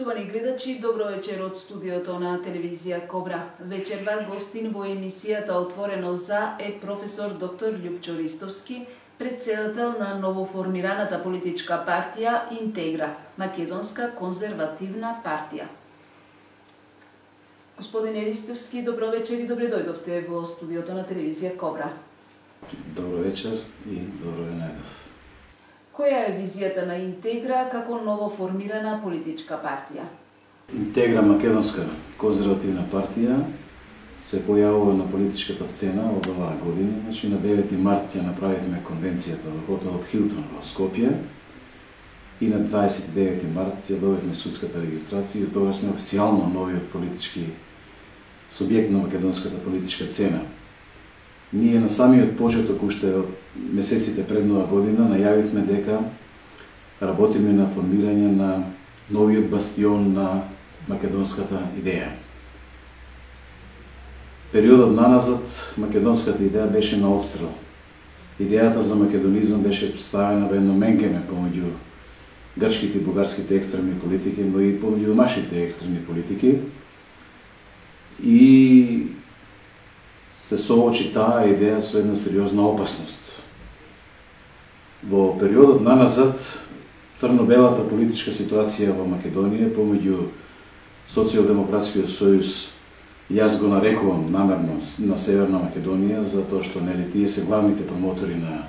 Почитувани гледачи, добро вечер од студиото на телевизија Кобра. Вечерва гостин во емисијата Отворено за е професор доктор Љупчо Ристовски, претседател на новоформираната политичка партија Интегра, Македонска конзервативна партија. Господине Ристовски, добро вечер и добре дојдовте во студиото на телевизија Кобра. Добро вечер и добро ве најдов. Која е визијата на Интегра како новоформирана политичка партија? Интегра Македонска конзервативна партија се појавува на политичката сцена од оваа година. Значи на 9 март ја направивме конвенцијата во хотелот Хилтон во Скопје и на 29 март ја добивме судската регистрација и тогаш сме официјално новиот политички субјект на македонската политичка сцена. Ние на самиот почеток, уште од месеците пред нова година, најавивме дека работиме на формирање на новиот бастион на македонската идеја. Периодот наназад македонската идеја беше на отстрел. Идејата за македонизам беше ставена во едно менкеме помеѓу грчките и бугарските екстремни политики, но и помеѓу домашните екстремни политики. И се соочи таа идеја со една сериозна опасност. Во периодот наназад, црно-белата политичка ситуација во Македонија помеѓу Социјалдемократскиот сојуз, јас го нарекувам намерно на Северна Македонија, затоа што нели тие се главните промотори на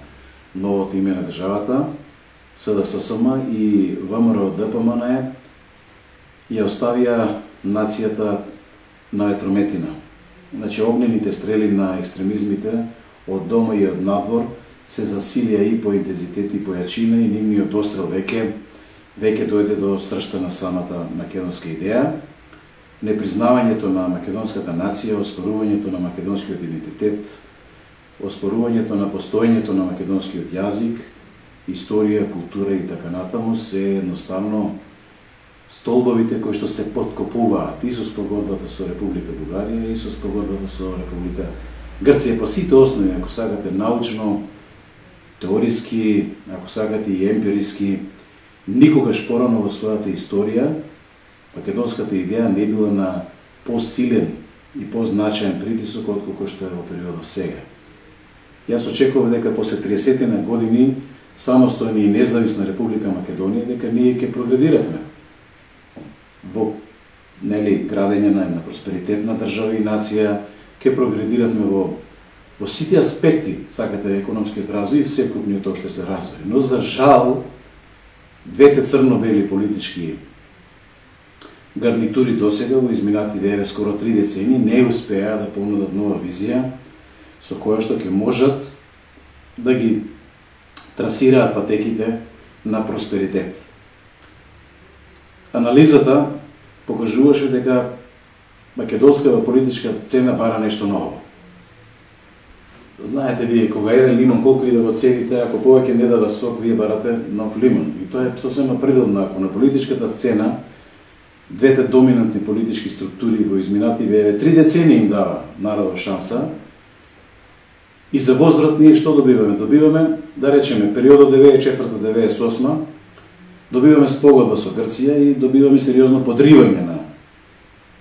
новото име на државата, СДССМ и ВМРО-ДПМН ја оставија нацијата на ветрометина. Значи, огнените стрели на екстремизмите од дома и од надвор се засилија и по интензитет и по јачина и нивниот острел веќе дојде до сршта на самата македонска идеја. Непризнавањето на македонската нација, оспорувањето на македонскиот идентитет, оспорувањето на постоењето на македонскиот јазик, историја, култура и така натаму се едноставно столбовите кои што се подкопуваат и со спогодбата со Република Бугарија и со спогодбата со Република Грција по сите основи, ако сакате научно, теориски, ако сакате и емпириски. Никогаш порано во својата историја македонската идеја не била на посилен и позначаен притисок отколку што е во периодот сега. Јас очекував дека после 30 на години самостојна и независна Република Македонија дека ние ќе прогредиравме во градење на една просперитетна држава и нација, ќе прогредиравме во сите аспекти, сакате, економскиот развој и вsekupниот општествен развој. Но за жал, двете црно-бели политички гарнитури досега во изминативе скоро 3 децени не успеа да понудат нова визија со која што ќе можат да ги трасираат патеките на просперитет. Анализата покажуваше дека македонската политичка сцена бара нешто ново. Знаете вие, кога еден лимон колку и да го цедите, ако повеќе не дава сок, вие барате нов лимон. И тоа е сосема природно. Ако на политичката сцена двете доминантни политички структури во изминативе 3 децении им дава народот шанса, и за возврат ние што добиваме? Добиваме, да речеме, периодот 94-98, добиваме спогодба со Грција и добиваме сериозно подривање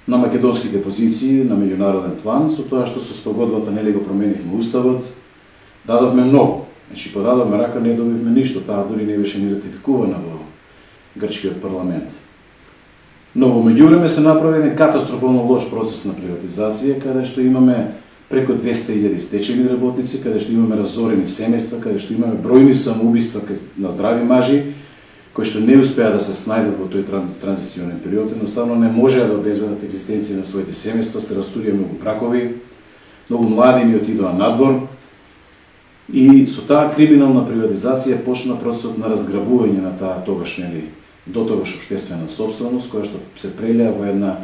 на македонските позиции на меѓународен план, со тоа што со спогодбата нели го променивме уставот, дадовме многу. Значи подадовме рака, не добивме ништо, таа дури не беше ни ратификувана во грчкиот парламент. Но во меѓувреме се направи еден катастрофално лош процес на приватизација, каде што имаме преку 200.000 стечени работници, каде што имаме разорени семејства, каде што имаме бројни самоубиства на здрави мажи, кои што не успеа да се снајдат во тој транзиционен период, едноставно не можеа да обезбедат екзистенција на своите семејства, се растурија многу бракови, многу млади ни отидоа надвор и со таа криминална приватизација почна процесот на разграбување на таа тогаш до тогаш општествена собственост, која што се прелеа во една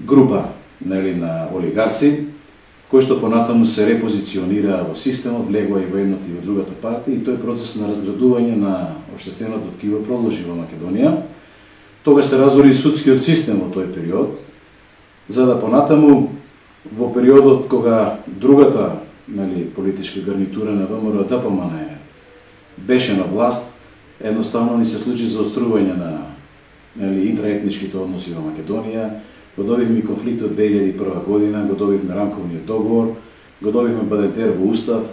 група на олигарси, кои што понатаму се репозиционираа во системот, влегоа и во едната и во другата партија, и тој процес на разградување на општественото ткиво продолжи во Македонија. Тогаш се разори судскиот систем во тој период, за да понатаму во периодот кога другата политичка гарнитура на ВМРО-ДПМН беше на власт, едноставно ни се случи заострување интраетничките односи во Македонија, го добивме конфликтот 2001 година, го добивме рамковниот договор, го добивме Бадентер во Устав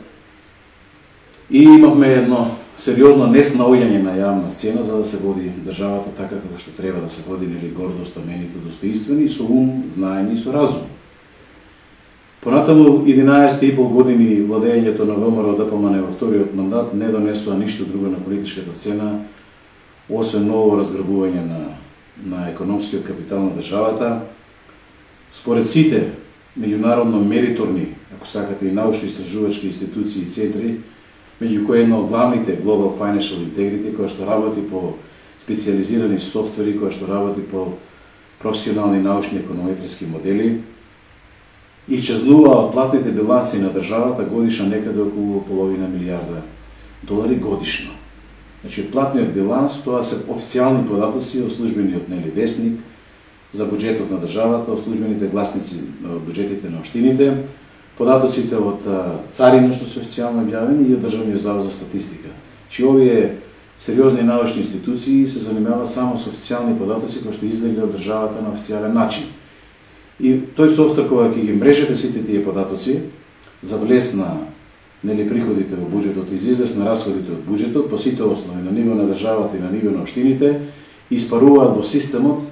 и имавме едно сериозно неснаоѓање на јавна сцена за да се води државата така како што треба да се води, гордо, стаменито, достоинствени, со ум, знаење и со разум. Понатаму 11,5 години владењето на ВМРО ДПМН во вториот мандат не донесува ништо друго на политичката сцена, освен ново разграбување на економскиот капитал на државата. Според сите меѓународно мериторни, ако сакате и научно-истражувачки институции и центри, меѓу кои една од главните Global Financial Integrity, која што работи по специализирани софтвери, која што работи по професионални научни економетриски модели, исчезнува од платните биланси на државата годишно некаде околу половина милијарда долари годишно. Значи, платниот биланс, тоа се официјални податоци од службениот весник за буџетот на државата, од службените гласници од буџетите на општините, податоците од царина што се официјално објавени и од Државниот завод за статистика. Чи овие сериозни научни институции се занимаваат само со официјални податоци кои што излегле од државата на официјален начин. И тој софтвер кога ќе ги мрежете сите тие податоци за влез на приходите во буџетот и за излез на расходите од буџетот по сите основи на ниво на државата и на ниво на општините испаруваат во системот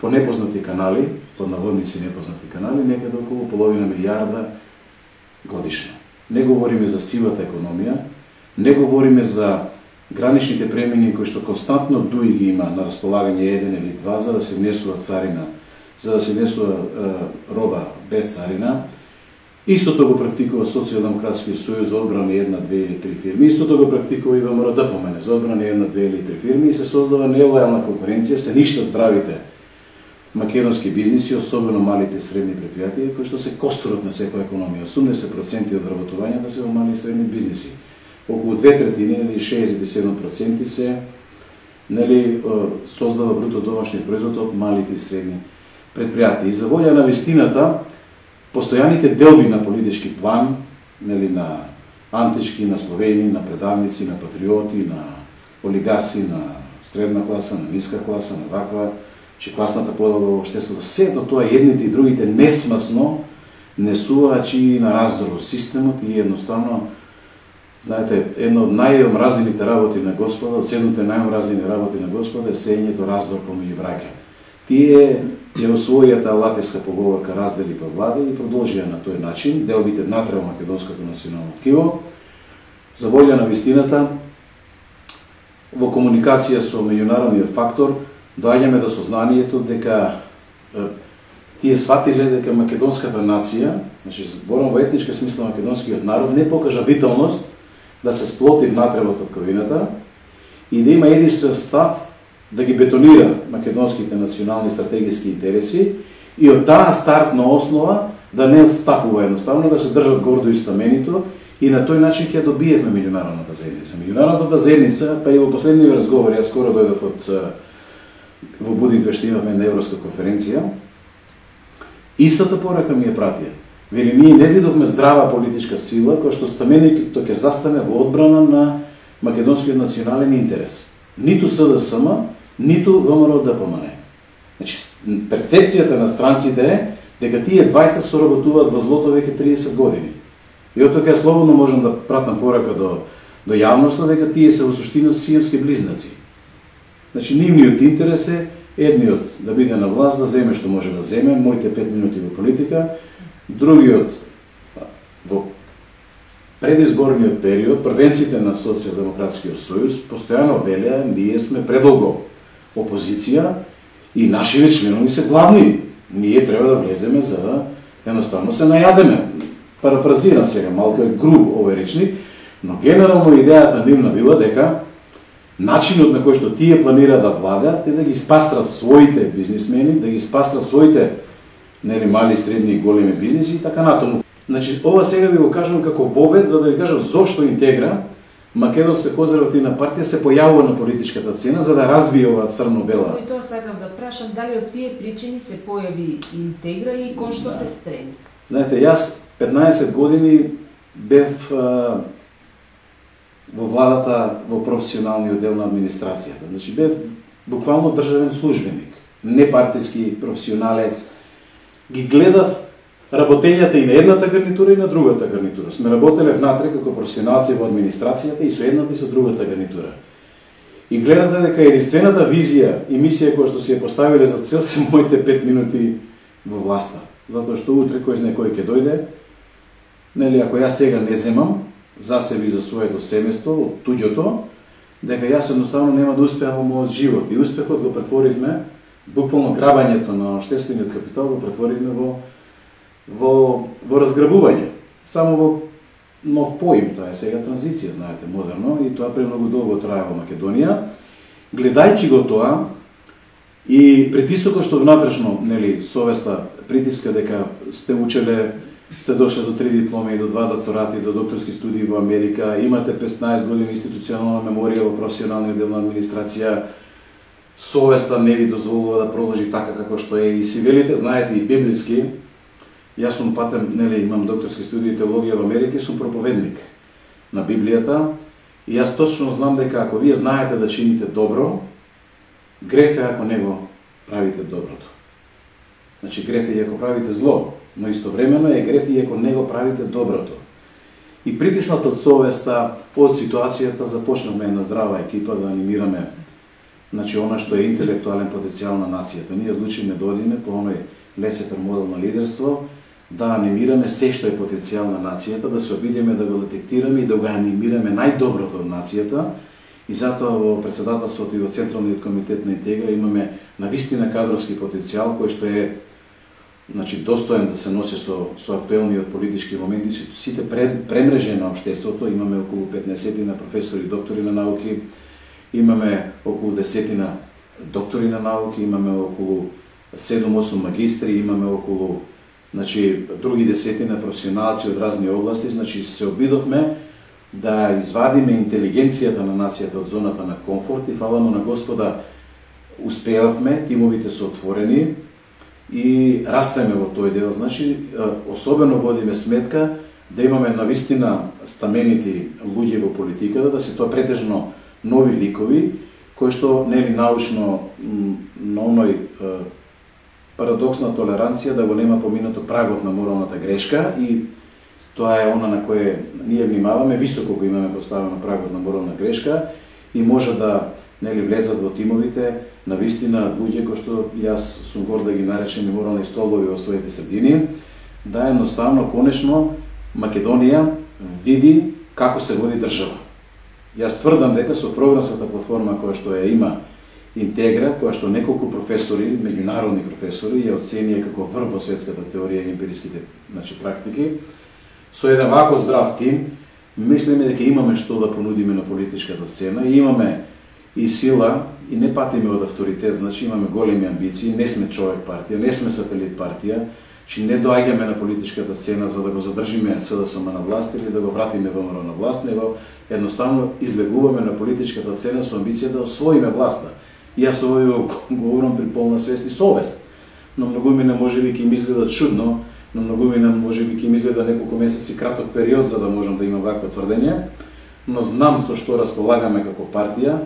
по непознати канали, под наводници непознати канали, некаде околу половина милијарда годишно. Не говориме за сивата економија, не говориме за граничните премини кои што константно ДУИ ги има на располагање еден или два за да се внесува царина, за да се внесува роба без царина. Истото го практикува Социјалдемократскиот сојуз за одбрана една, две или три фирми, истото го практикува и ВМРО ДПМН за одбрана една, две или три фирми и се создава нелојална конкуренција, се ништат здравите македонски бизниси, особено малите и средни предпријатија, кои што се костурот на секоја економија. 80% од вработувањата се во мали и средни бизниси. Околу 2/3 или 67% се создава бруто домашниот производ од малите и средни предпријатија. И за волја на вистината, постојаните делби на политички план, на антички, на словени, на предавници, на патриоти, на олигарси, на средна класа, на ниска класа, на ваква, че класната подела во општеството, сето тоа едните и другите несмасно несуваат и на раздор во системот и едноставно, знаете, едно од најомразените работи на Господа, од 7 најомразени работи на Господа е сеењето раздор помеѓу браќа. Тие ја освоија таа латинска поговорка раздели па владе и продолжија на тој начин, делбите внатре во македонското национално ткиво. За волја на вистината, во комуникација со меѓународниот фактор, доаѓаме до сознанието дека тие сватиле дека македонската нација, значи зборам во етничка смисла македонскиот народ, не покажа виталност да се сплоти внатре во татковината и да има единствен став да ги бетонира македонските национални стратегиски интереси и од таа стартна основа да не отстапува едноставно, да се држат гордо и стаменито и на тој начин ќе добиеме меѓународната заедница. Меѓународната заедница, па и во последниот разговор, јас скоро дојдов во Будимпешта, имавме на Европска конференција, истата порака ми ја пратија. Вели, ние не видовме здрава политичка сила која што стаменито ќе застане во одбрана на македонскиот национален интерес. Ниту СДСМ, ниту ВМРО ДПМН. Значи, перцепцијата на странците е дека тие двајца соработуваат во злото веќе 30 години. И од тоа слободно можам да пратам порака до јавноста дека тие се во суштина сиемски близнаци. Значи, нивниот интерес е едниот да биде на власт, да земе што може да земе, моите 5 минути во политика, другиот во предизборниот период, првенците на Социјалдемократскиот сојуз постојано велеа, ние сме предолго опозиција и нашите членови се главни. Ние треба да влеземе за да едноставно се најадеме. Парафразирам сега, малку е груб овој речник, но генерално идејата нивна била дека начинот на кој што тие планира да владеат е да ги спастрат своите бизнисмени, да ги спастрат своите мали, средни и големи бизниси и така натаму. Значи, ова сега ви го кажам како вовед, за да ви кажам зошто Интегра, Македонска конзервативна партија, се појавува на политичката сцена, за да разбие оваа црно-бела. И тоа сакам да прашам, дали од тие причини се појави Интегра и кон што се стреми? Знаете, јас 15 години бев во владата во професионалниот дел на администрацијата. Значи, бев буквално државен службеник, непартиски професионалец. Ги гледав работењата и на едната гарнитура и на другата гарнитура. Сме работеле внатре како професионалци во администрацијата и со едната и со другата гарнитура. И гледате дека единствената визија и мисија која што си ја поставиле за цел се моите 5 минути во власта. Затоа што утре кој знае кој ќе дојде, нели, ако јас сега не земам за себе и за своето семејство од туѓото, дека јас едноставно нема да успеам во мојот живот. И успехот го претворивме, буквално грабањето на општествениот капитал го претворивме во разграбување. Само во нов поим, тоа е сега транзиција, знаете, модерно, и тоа премногу долго трае во Македонија. Гледајќи го тоа и притисокот што внатрешно, нели, совеста притиска дека сте учеле, сте дошле до 3 дипломи, до 2 докторати, до докторски студии во Америка, имате 15 години институционална меморија во професионалниот дел на администрација, совеста не ви дозволува да продолжи така како што е, и си велите, знаете, и библиски. Јас сум патен, нели, имам докторски студии теологија во Америка и сум проповедник на Библијата, и јас точно знам дека ако вие знаете да чините добро, греф е ако не го правите доброто. Значи греф е и ако правите зло, но истовремено е греф и ако не го правите доброто. И притиснат од совеста, од ситуацијата, започнавме една здрава екипа да анимираме, значи, она што е интелектуален потенцијал на нацијата. Ние одлучиме да одиме по оној лесефер модел на лидерство, да анимираме се што е потенцијал на нацијата, да се обидиме да го детектираме и да го анимираме најдоброто од нацијата. И затоа во председателството и во Централниот комитет на Интегра имаме навистина кадровски потенцијал кој што е, значи, достоен да се носи со актуелниот политички моменти, сите премрежени на општеството. Имаме околу 15 на професори и доктори на науки, имаме околу 10 на доктори на науки, имаме околу 7-8 магистри, имаме околу, значи, други десетина професионалци од разни области. Значи, се обидовме да извадиме интелигенцијата на нацијата од зоната на комфорт и фала му на Господа успеавме, тимовите се отворени и растеме во тој дел. Значи, особено водиме сметка да имаме навистина стаменити луѓе во политиката, да се тоа претежно нови ликови, кои што, нели, научно на оној парадоксна толеранција да го нема поминато прагот на моралната грешка, и тоа е она на кое ние внимаваме, високо го имаме поставено прагот на морална грешка, и може да, нели, влезат во тимовите навистина луѓе кои што јас сум горд да ги наречем и морални столбови во своите средини, да едноставно конечно Македонија види како се води држава. Јас тврдам дека со програмската платформа која што ја има Интегра, која што неколку професори, меѓународни професори, ја оценија како врв во светската теорија и емпириските, значи, практики, со еден вако здрав тим, мислиме дека имаме што да понудиме на политичката сцена, и имаме и сила, и не патиме од авторитет, значи имаме големи амбиции, не сме човек партија, не сме сателит партија, че не доаѓаме на политичката сцена за да го задржиме СДСМ на власт или да го вратиме ВМРО на власт, него едноставно излегуваме на политичката сцена со амбиција да освоиме власта. И јас овој говорам при полна свест и совест. Но многумина можеби ќе им изгледа чудно, но многумина можеби ќе им изгледа неколку месеци краток период за да можам да имам вакво тврдење, но знам со што располагаме како партија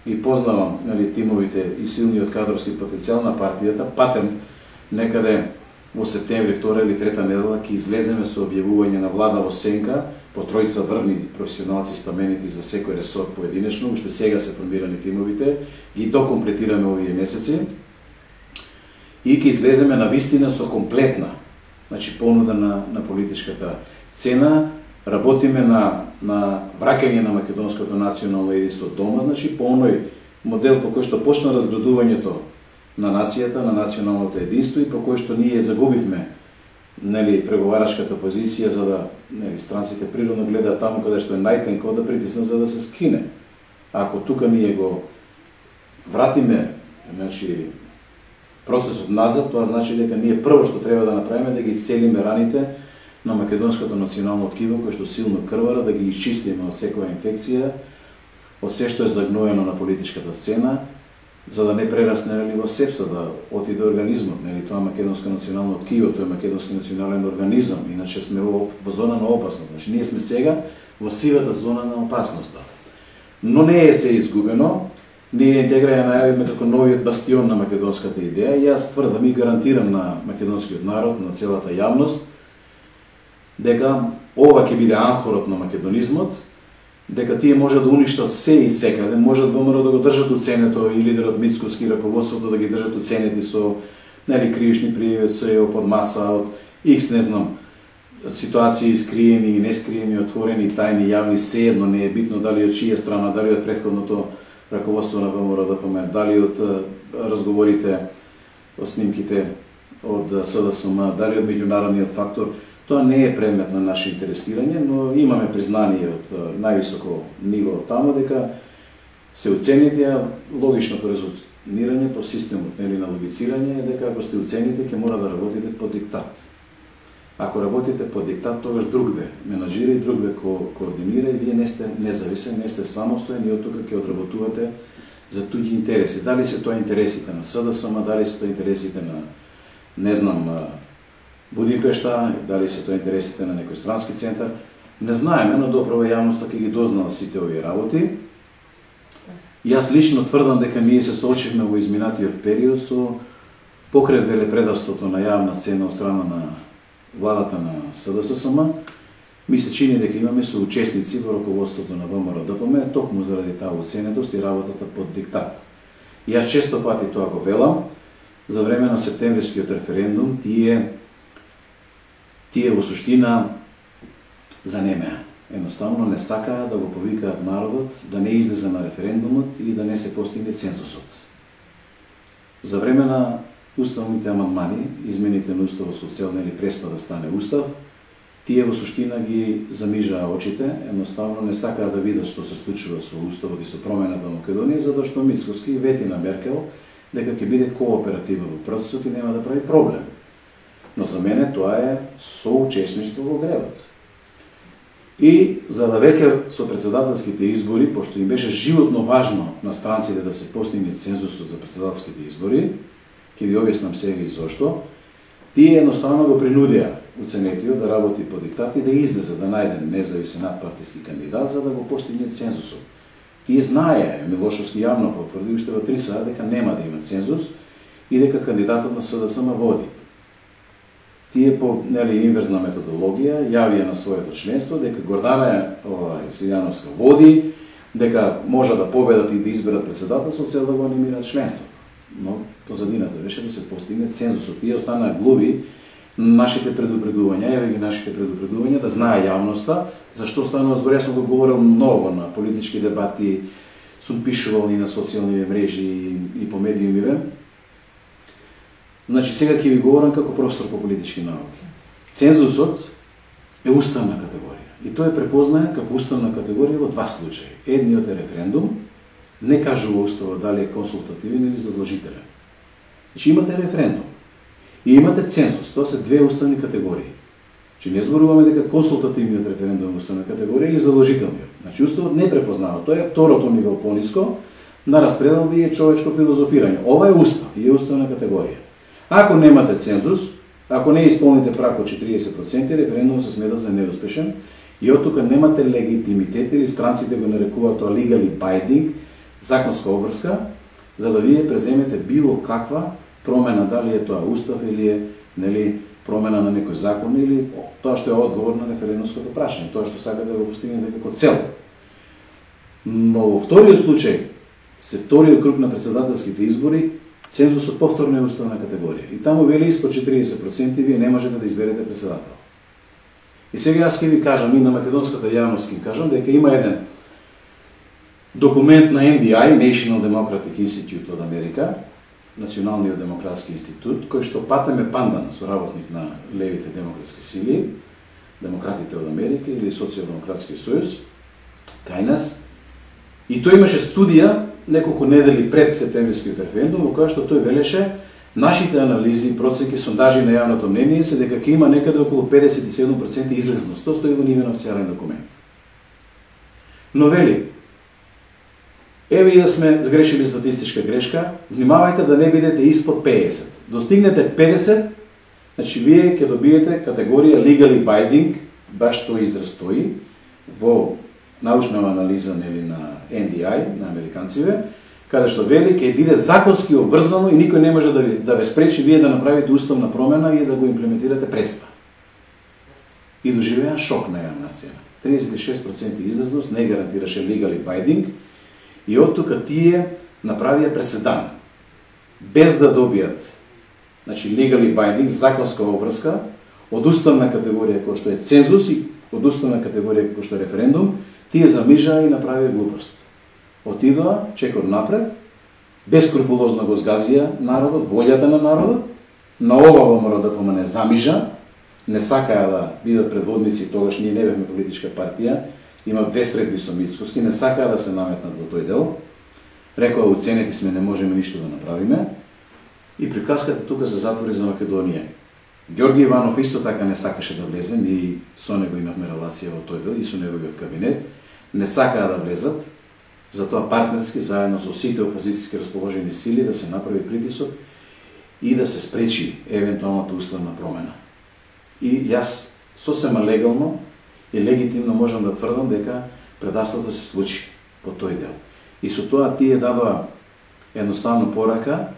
и познавам, нели, тимовите и силниот кадровски потенцијал на партијата. Патем некаде во септември, 2 или 3 недела ќе излеземе со објавување на влада во сенка по тројца врвни професионалци стаменити за секој ресор поединечно. Уште сега се формирани тимовите, ги докомплетираме овие месеци и ќе излеземе на вистина со комплетна, значи, понуда на политичката сцена. Работиме на враќање на македонското национално единство дома, значи по оној модел по кој што почна разградувањето на нацијата, на националното единство, и по кој што ние загубивме, нели, преговарашката позиција, за да, нели, странците природно гледаат таму каде што е најтенко да притиснат за да се скине. Ако тука ние го вратиме, значи, процесот назад, тоа значи дека ние прво што треба да направиме да ги исцелиме раните на македонското национално ткиво, кој што силно крвара, да ги исчистиме од секоја инфекција, од се што е загноено на политичката сцена, за да не прерасне, нели, во сепса, да отиде организмот, нели, тоа македонско национално ткиво, тоа е македонски национален организам, иначе сме во зона на опасност. Значи, ние сме сега во сивата зона на опасноста. Но не е се изгубено, ние интегра ја најавивме како новиот бастион на македонската идеја и јас тврдам и гарантирам на македонскиот народ, на целата јавност, дека ова ќе биде анхорот на македонизмот, дека тие можат да уништат се и секаде, можат ВМРО да го држат уценето и лидерот Мицкоски и раководството да ги држат уценети со кривични пријави од СЕО, под маса, од X, не знам, ситуации скриени и нескриени, отворени, тајни, јавни, sejedno не е битно дали од чија страна, дали од претходното раководство на ВМРО ДПМ, дали од разговорите, од снимките од СДСМ, дали од меѓународниот фактор. Тоа не е предмет на наше интересирање, но имаме признание од највисоко ниво таму дека се оцените, логичното резонирање по системот на логицирање е дека ако сте оцените ќе мора да работите по диктат. Ако работите по диктат, тогаш другве менажира и другве координира и вие не сте независен, не сте самостоен и од тука ќе одработувате за туѓи интереси. Дали се тоа интересите на СДСМ, дали се тоа интересите на, не знам, Будимпешта, дали се тоа интересите на некој странски центар, не знаеме, но доправа јавноста ќе ги дознава сите овие работи. Јас лично тврдам дека ние се соочивме во изминатиот период со покрај велепредавството на јавна сцена од страна на владата на СДСМ. Ми се чини дека имаме соучесници во раководството на ВМРО ДПМ, токму заради таа уценетост и работата под диктат. Јас често пати тоа го велам, за време на септемврискиот референдум, тие во суштина занемеа. Едноставно не сакаа да го повикаат народот, да не излезе на референдумот и да не се постигне цензусот. За време на уставните амандмани, измените на уставот со цел преспа да стане устав, тие во суштина ги замижаа очите, едноставно не сакаа да видат што се случува со уставот и со промената на Македонија, затоа што Мицкоски вети на Меркел дека ќе биде кооперативен во процесот и нема да прави проблем. Но за мене тоа е соучесништво во гревот. И за да веќе со председателските избори, пошто им беше животно важно на странците да се постигне цензусот за председателските избори, ќе ви објаснам сега и зошто, тие едноставно го принудија уценетиот да работи по диктат и да излезе, да најде независен надпартиски кандидат за да го постигне цензусот. Тие знаеа, Милошовски јавно потврди уште во 3 саат дека нема да има цензус и дека кандидатот на СДСМ води. Тие по инверзна методологија јавија на своето членство дека Гордана Силјановска води, дека може да победат и да изберат председател со цел да го анимираат членството. Но позадината беше да се постигне цензусот. Тие останаа глуви нашите предупредувања, јави ги нашите предупредувања, да знае јавноста зашто станува збор. Јас сум го говорил многу на политички дебати, сум пишувал и на социјални мрежи и по медиумиве. Значи, сега ќе ви говорам како професор по политички науки. Цензусот е уставна категорија. И тој е препознае како уставна категорија во 2 случаи. Едниот е референдум, не кажува уставот дали е консултативен или задолжителен. Значи, имате референдум и имате цензус. Тоа се 2 уставни категории. Значи, не зборуваме дека консултативниот референдум е уставна категорија или задолжителниот. Значи, уставот не препознава. Тоа е второто ниво пониско на распределби и човечко филозофирање. Ова е устав и е уставна категорија. Ако немате цензус, ако не исполните прак од 40%, референдумот се смета за неуспешен и од тука немате легитимитет или странците го нарекуваат тоа legally binding, законска обврска, за да вие преземете било каква промена, дали е тоа устав или е промена на некој закон или тоа што е одговор на референдумското прашање, тоа што сака да го постигнете како цел. Но во вториот случај, се вториот круг на председателските избори, цензусот повторно е уставна категорија. И таму вели испод 40% вие не можете да изберете председател. И сега јас ќе ви кажам, и на македонската јавност ќе кажам, дека има еден документ на NDI, National Democratic Institute од Америка, Националниот демократски институт, кој што Патеме Пандан, соработник на левите демократски сили, демократите од Америка или Социјалдемократски сојуз, кај нас, и тој имаше студија неколку недели пред септемврискиот референдум, во која што тој велеше нашите анализи, проценки, сондажи на јавното мнение се дека ќе има некаде околу 57% излезност. Тоа стои во нивен официјален документ. Но вели, еве и да сме сгрешили статистичка грешка, внимавајте да не бидете испод 50. Достигнете 50, значи вие ќе добиете категорија legally binding, баш тој израз во научна анализа на NDI, на американциве, каде што вели ќе биде законски обврзано и никој не може да ве спречи вие да направите уставна промена и да го имплементирате преспа. И доживеа шок на јавна сцена. 36% излазност не гарантираше legally binding и од тука тие направија преседан. Без да добијат legally binding, законска обврска, од уставна категорија кој што е цензус и од уставна категорија кој што е референдум, тие замижаа и направија глупост. Отидоа чекор напред, бескрупулозно го згазија народот, волјата на народот, на ова ВМРО ДПМН замижа, не сакаа да бидат предводници, тогаш ние не бевме политичка партија, има две средби со Мицкоски, не сакаа да се наметнат во тој дел, рекоа уценети сме, не можеме ништо да направиме, и приказката тука се затвори за Македонија. Ѓорги Иванов исто така не сакаше да влезе, ние со него имавме релација во тој дел и со неговиот кабинет, не сакаа да влезат, затоа партнерски заедно со сите опозицијски расположени сили да се направи притисок и да се спречи евентуалната уставна промена. И јас сосема легално и легитимно можам да тврдам дека предавството се случи по тој дел. И со тоа тие дадоа едноставно порака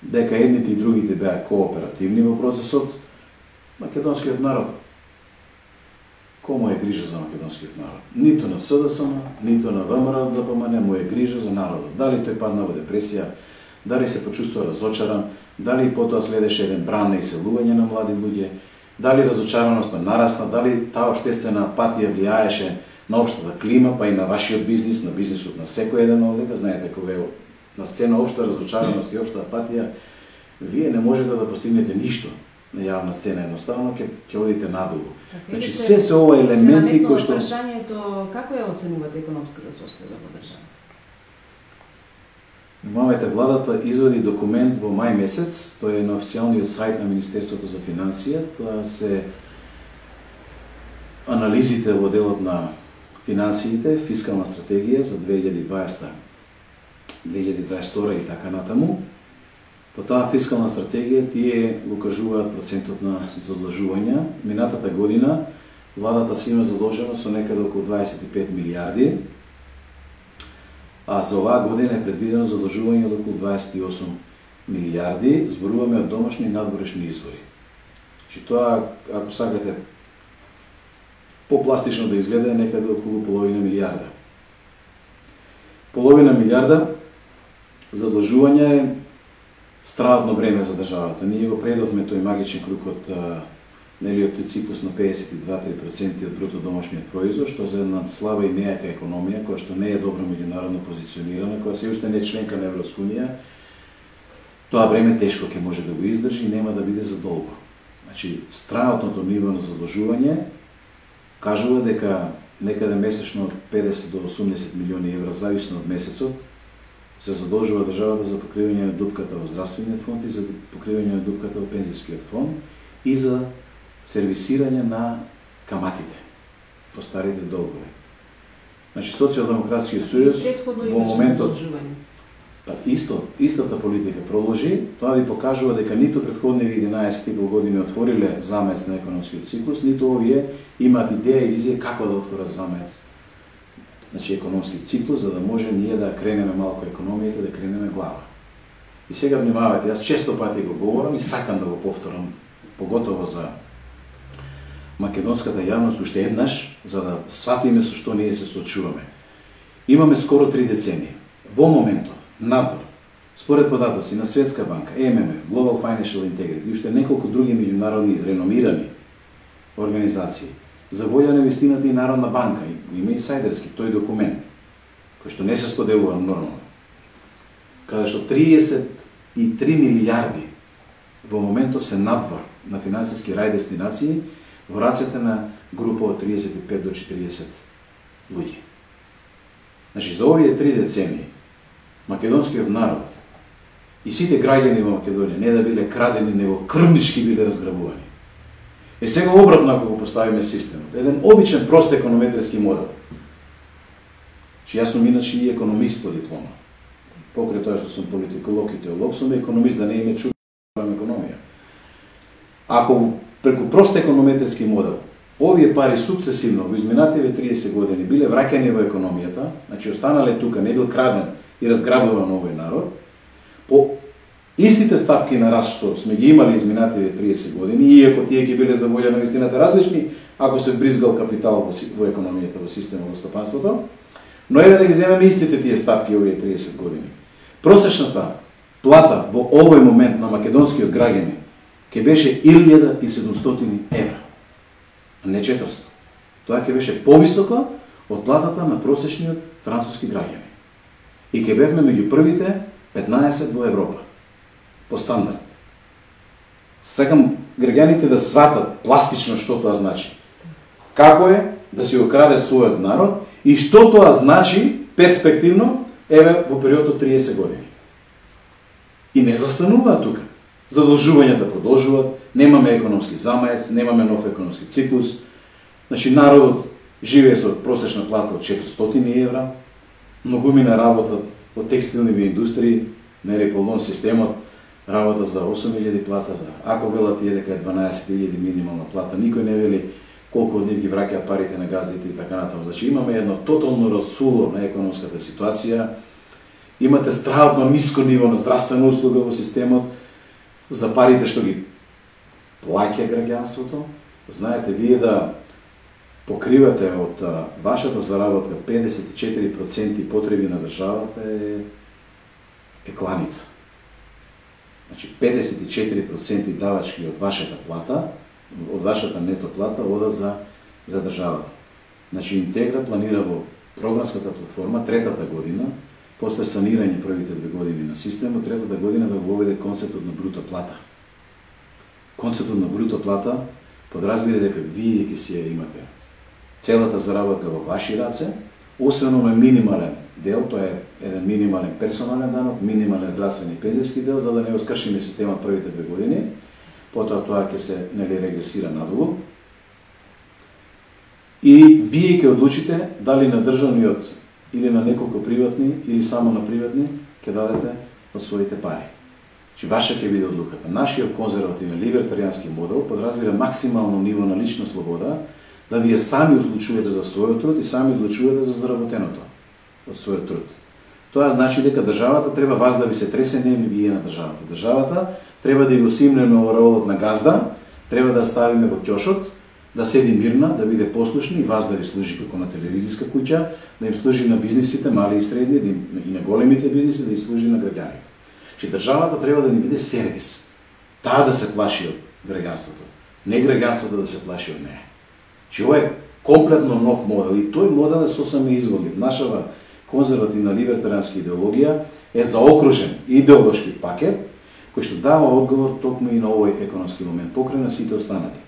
дека едните и другите беа кооперативни во процесот. Македонскиот народ, кому е грижа за македонскиот народ? Ниту на СДСМ, ниту на ВМРО ДПМН му е грижа за народот. Дали тој падна во депресија, дали се почувствува разочаран, дали потоа следеше еден бран на иселување на млади луѓе, дали разочараноста нарасна, дали таа општествена апатија влијаеше на општата клима, па и на вашиот бизнис, на бизнисот на секој еден овдека. Знаете, кога е на сцена општа разочараност и општа апатија, вие не можете да постигнете ништо на јавна сцена, едноставно ќе одите надолу. Значи се ова елементи кои што прашањето како ја оценувате економската состојба во државата? Внимавајте, владата извади документ во мај месец, тој е на официјалниот сајт на Министерството за финансија, тоа се анализите во делот на финансиите, фискална стратегија за 2020, 2022 и така натаму. По таа фискална стратегија тие го кажуваат процентот на задлжување. Минатата година владата си има задолжено со некаде околу 25 милиарди, а за оваа година е предвидено задлжување од околу 28 милиарди, зборуваме од домашни и надворешни извори. Значи тоа, ако сакате попластично да изгледа, е некаде околу половина милиарда. Половина милиарда задлжување е стравно бреме за државата. Ние го предовме тој магичен круг од тој циклус на 52-3% од бруто домашниот производ, што за една слаба и нејака економија, која што не е добро меѓународно позиционирана, која се уште не е членка на Европска унија, тоа бреме тешко ќе може да го издржи и нема да биде за долго. Значи, странотното ниво на задлжување кажува дека некаде месечно од 50 до 80 милиони евра, зависно од месецот, се задолжува државата за покривање на дупката во здравствениот фонд и за покривање на дупката во пензијскиот фонд и за сервисирање на каматите по старите долгови. Значи, Социјалдемократскиот сојуз во моментот истата политика проложи, тоа ви покажува дека ниту претходниви 11,5 години отвориле замец на економскиот циклус, ниту овие имаат идеја и визија како да отворат замец, значи економски циклус, за да може ние да кренеме малку економијата, да кренеме глава. И сега внимавајте, јас често пати го говорам и сакам да го повторам, поготово за македонската јавност уште еднаш, за да сватиме со што ние се соочуваме. Имаме скоро 3 децении. Во моментов, надвор, според податоци на Светска банка, ММФ, Global Financial Integrity и уште неколку други меѓународни реномирани организации, за волја на вистината и Народна банка, има инсайдерски тој документ, кој што не се споделува нормално, каде што 33 милиарди во моментов се надвор на финансиски рај дестинации во рацете на група од 35 до 40 луѓе. Значи, за овие 3 децении, македонскиот народ и сите граѓани во Македонија не да биле крадени, него крвнички биле разграбувани. Е сега обратно ако го поставиме системот, еден обичен прост економетриски модел. Че јас сум иначе и економист по диплома. Покрај тоа што сум политиколог и теолог, сум економист, да не име чувам економија. Ако преку прост економетриски модел овие пари сукцесивно во изминативе 30 години биле враќани во економијата, значи останале тука, не бил краден и разграбува на овој народ, по истите стапки на раст што сме ги имали изминативе 30 години, иако тие ќе биле за волја на вистината различни, ако се бризгал капитал во економијата, во системот во стопанството, но еве да ги земеме истите тие стапки овие 30 години. Просечната плата во овој момент на македонскиот граѓанин ќе беше 1700 евра, а не 400. Тоа ќе беше повисоко од платата на просечниот француски граѓанин. И ќе бевме меѓу првите 15 во Европа, по стандард. Сакам граѓаните да сватат пластично што тоа значи. Како е да си окраде својот народ и што тоа значи перспективно, еве во период од 30 години. И не застануваат тука. Задолжувањата продолжуваат, немаме економски замаец, немаме нов економски циклус. Значи народот живее со просечна плата од 400 евра, многумина работа во текстилни индустрии, нели полон системот, работа за 8000 плата, за ако велат тие дека е 12000 минимална плата, никој не вели колку од нив ги враќаат парите на газдите и така натаму. Значи имаме едно тотално расуло на економската ситуација, имате страхотно ниско ниво на здравствена услуга во системот, за парите што ги плаќа граѓанството. Знаете, вие да покривате од вашата заработка 54% потреби на државата е кланица. Значи 54% давачки од вашата плата, од вашата нето плата одат за државата. Значи Интегра планира во програмската платформа третата година, после санирање првите 2 години на системот, третата година да го воведе концептот на бруто плата. Концептот на бруто плата подразбира дека вие ќе си ја имате целата заработка во ваши раце, освен овој минимален дел, тоа е еден минимален персонален данок, минимален здравствен и пензијски дел, за да не оскршиме системот првите 2 години, потоа тоа ќе се регресира надолу. И вие ќе одлучите дали на државниот или на неколку приватни, или само на приватни, ќе дадете од своите пари. Че ваша ќе биде одлуката. Нашиот конзервативен либертаријански модел подразбира максимално ниво на лична слобода, да вие сами одлучувате за својот труд и сами одлучувате за заработеното од својот труд. Тоа значи дека државата треба вас да ви се тресе, не вие на државата. Државата треба да го симнеме ораолот на газда, треба да ставиме во ќошот, да седи мирна, да биде послушна и вас да ви служи како на телевизиска куќа, да им служи на бизнисите, мали и средни, и на големите бизниси, да им служи на граѓаните. Че државата треба да ни биде сервис. Таа да се плаши од граѓанството, не граѓанството да се плаши од неја. Че ова е комплетно нов модел и тој модел е сосема изводлив. Нашава конзервативна либертаријанска идеологија е заокружен идеолошки пакет кој што дава одговор токму и на овој економски момент, покрај на сите останати.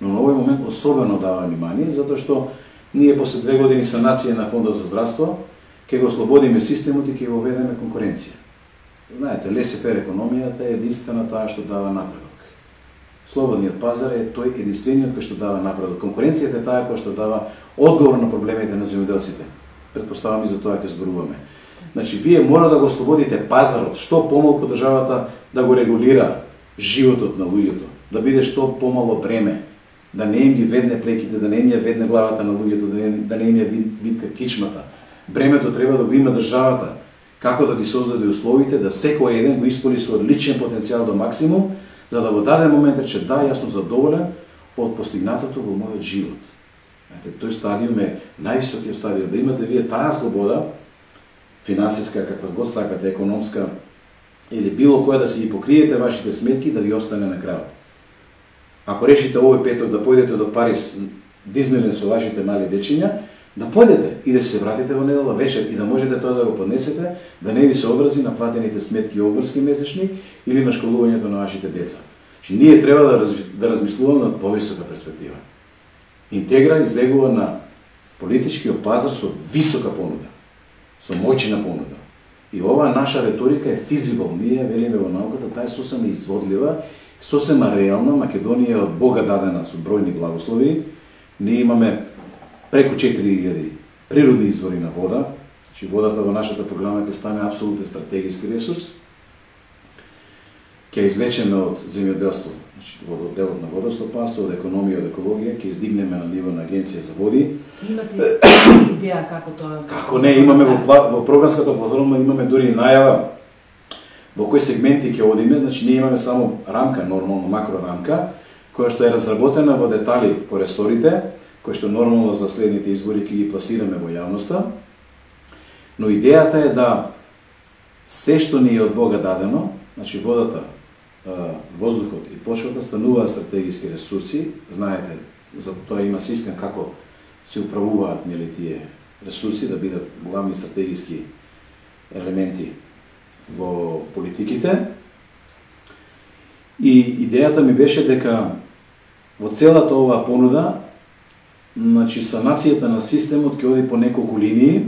Но на овој момент особено дава внимание, затоа што ние после 2 години санација на Фондот за здравство ќе го ослободиме системот и ќе го введеме конкуренција. Знаете, лесе-фер економијата е единствена таа што дава напредок. Слободниот пазар е тој единствениот кој што дава напредок. Конкуренцијата е таа која што дава одговор на проблемите на земјоделците. Претпоставам и за тоа ќе зборуваме. Значи, вие мора да го ослободите пазарот, што помалку државата да го регулира животот на луѓето, да биде што помало бреме, да не им ги ведне плеките, да не им ја ведне главата на луѓето, да не им ја витка кичмата. Бремето треба да го има државата, како да ги создаде условите, да секој еден го исполни својот личен потенцијал до максимум, за да во даден момент рече да, јас сум задоволен од постигнатото во мојот живот. Тој стадиум е највисокиот стадиум, да имате вие таа слобода, финансиска, каква год сакате, економска, или било која да си ги покриете вашите сметки, да ви остане на крајот. Ако решите овој петок да појдете до Париз, Диснеленд со вашите мали дечиња, да појдете и да се вратите во недела вечер и да можете тоа да го поднесете, да не ви се одрази на платените сметки обврски месечни или на школувањето на вашите деца. Ние треба да размислуваме на повисока перспектива. Интегра излегува на политичкиот пазар со висока понуда, со моќна понуда. И оваа наша риторика е физибл. Ние велиме во науката, таа е сосема изводлива, сосема реална. Македонија е од Бога дадена со бројни благослови. Ние имаме преку 4000 природни извори на вода. Значи водата во нашата програма ќе стане апсолутен стратегиски ресурс. Ќе извлечеме од земјоделство Значи, од одделот на водостопанство, од економија, од екологија, ќе издигнеме на ниво на Агенција за води. Имате идеја како тоа? Како не, имаме во програмската платформа имаме дури и најава во кои сегменти ќе одиме, значи ние имаме само рамка, нормално макрорамка, која што е разработена во детали по ресорите, кој што нормално за следните избори ќе ги пласираме во јавноста. Но идејата е да се што ни е од Бога дадено, значи водата, воздухот и почвата стануваат стратегиски ресурси. Знаете, за тоа има систем како се управуваат тие ресурси да бидат главни стратегиски елементи во политиките. И идејата ми беше дека во целата оваа понуда, значи санацијата на системот ќе оди по неколку линии.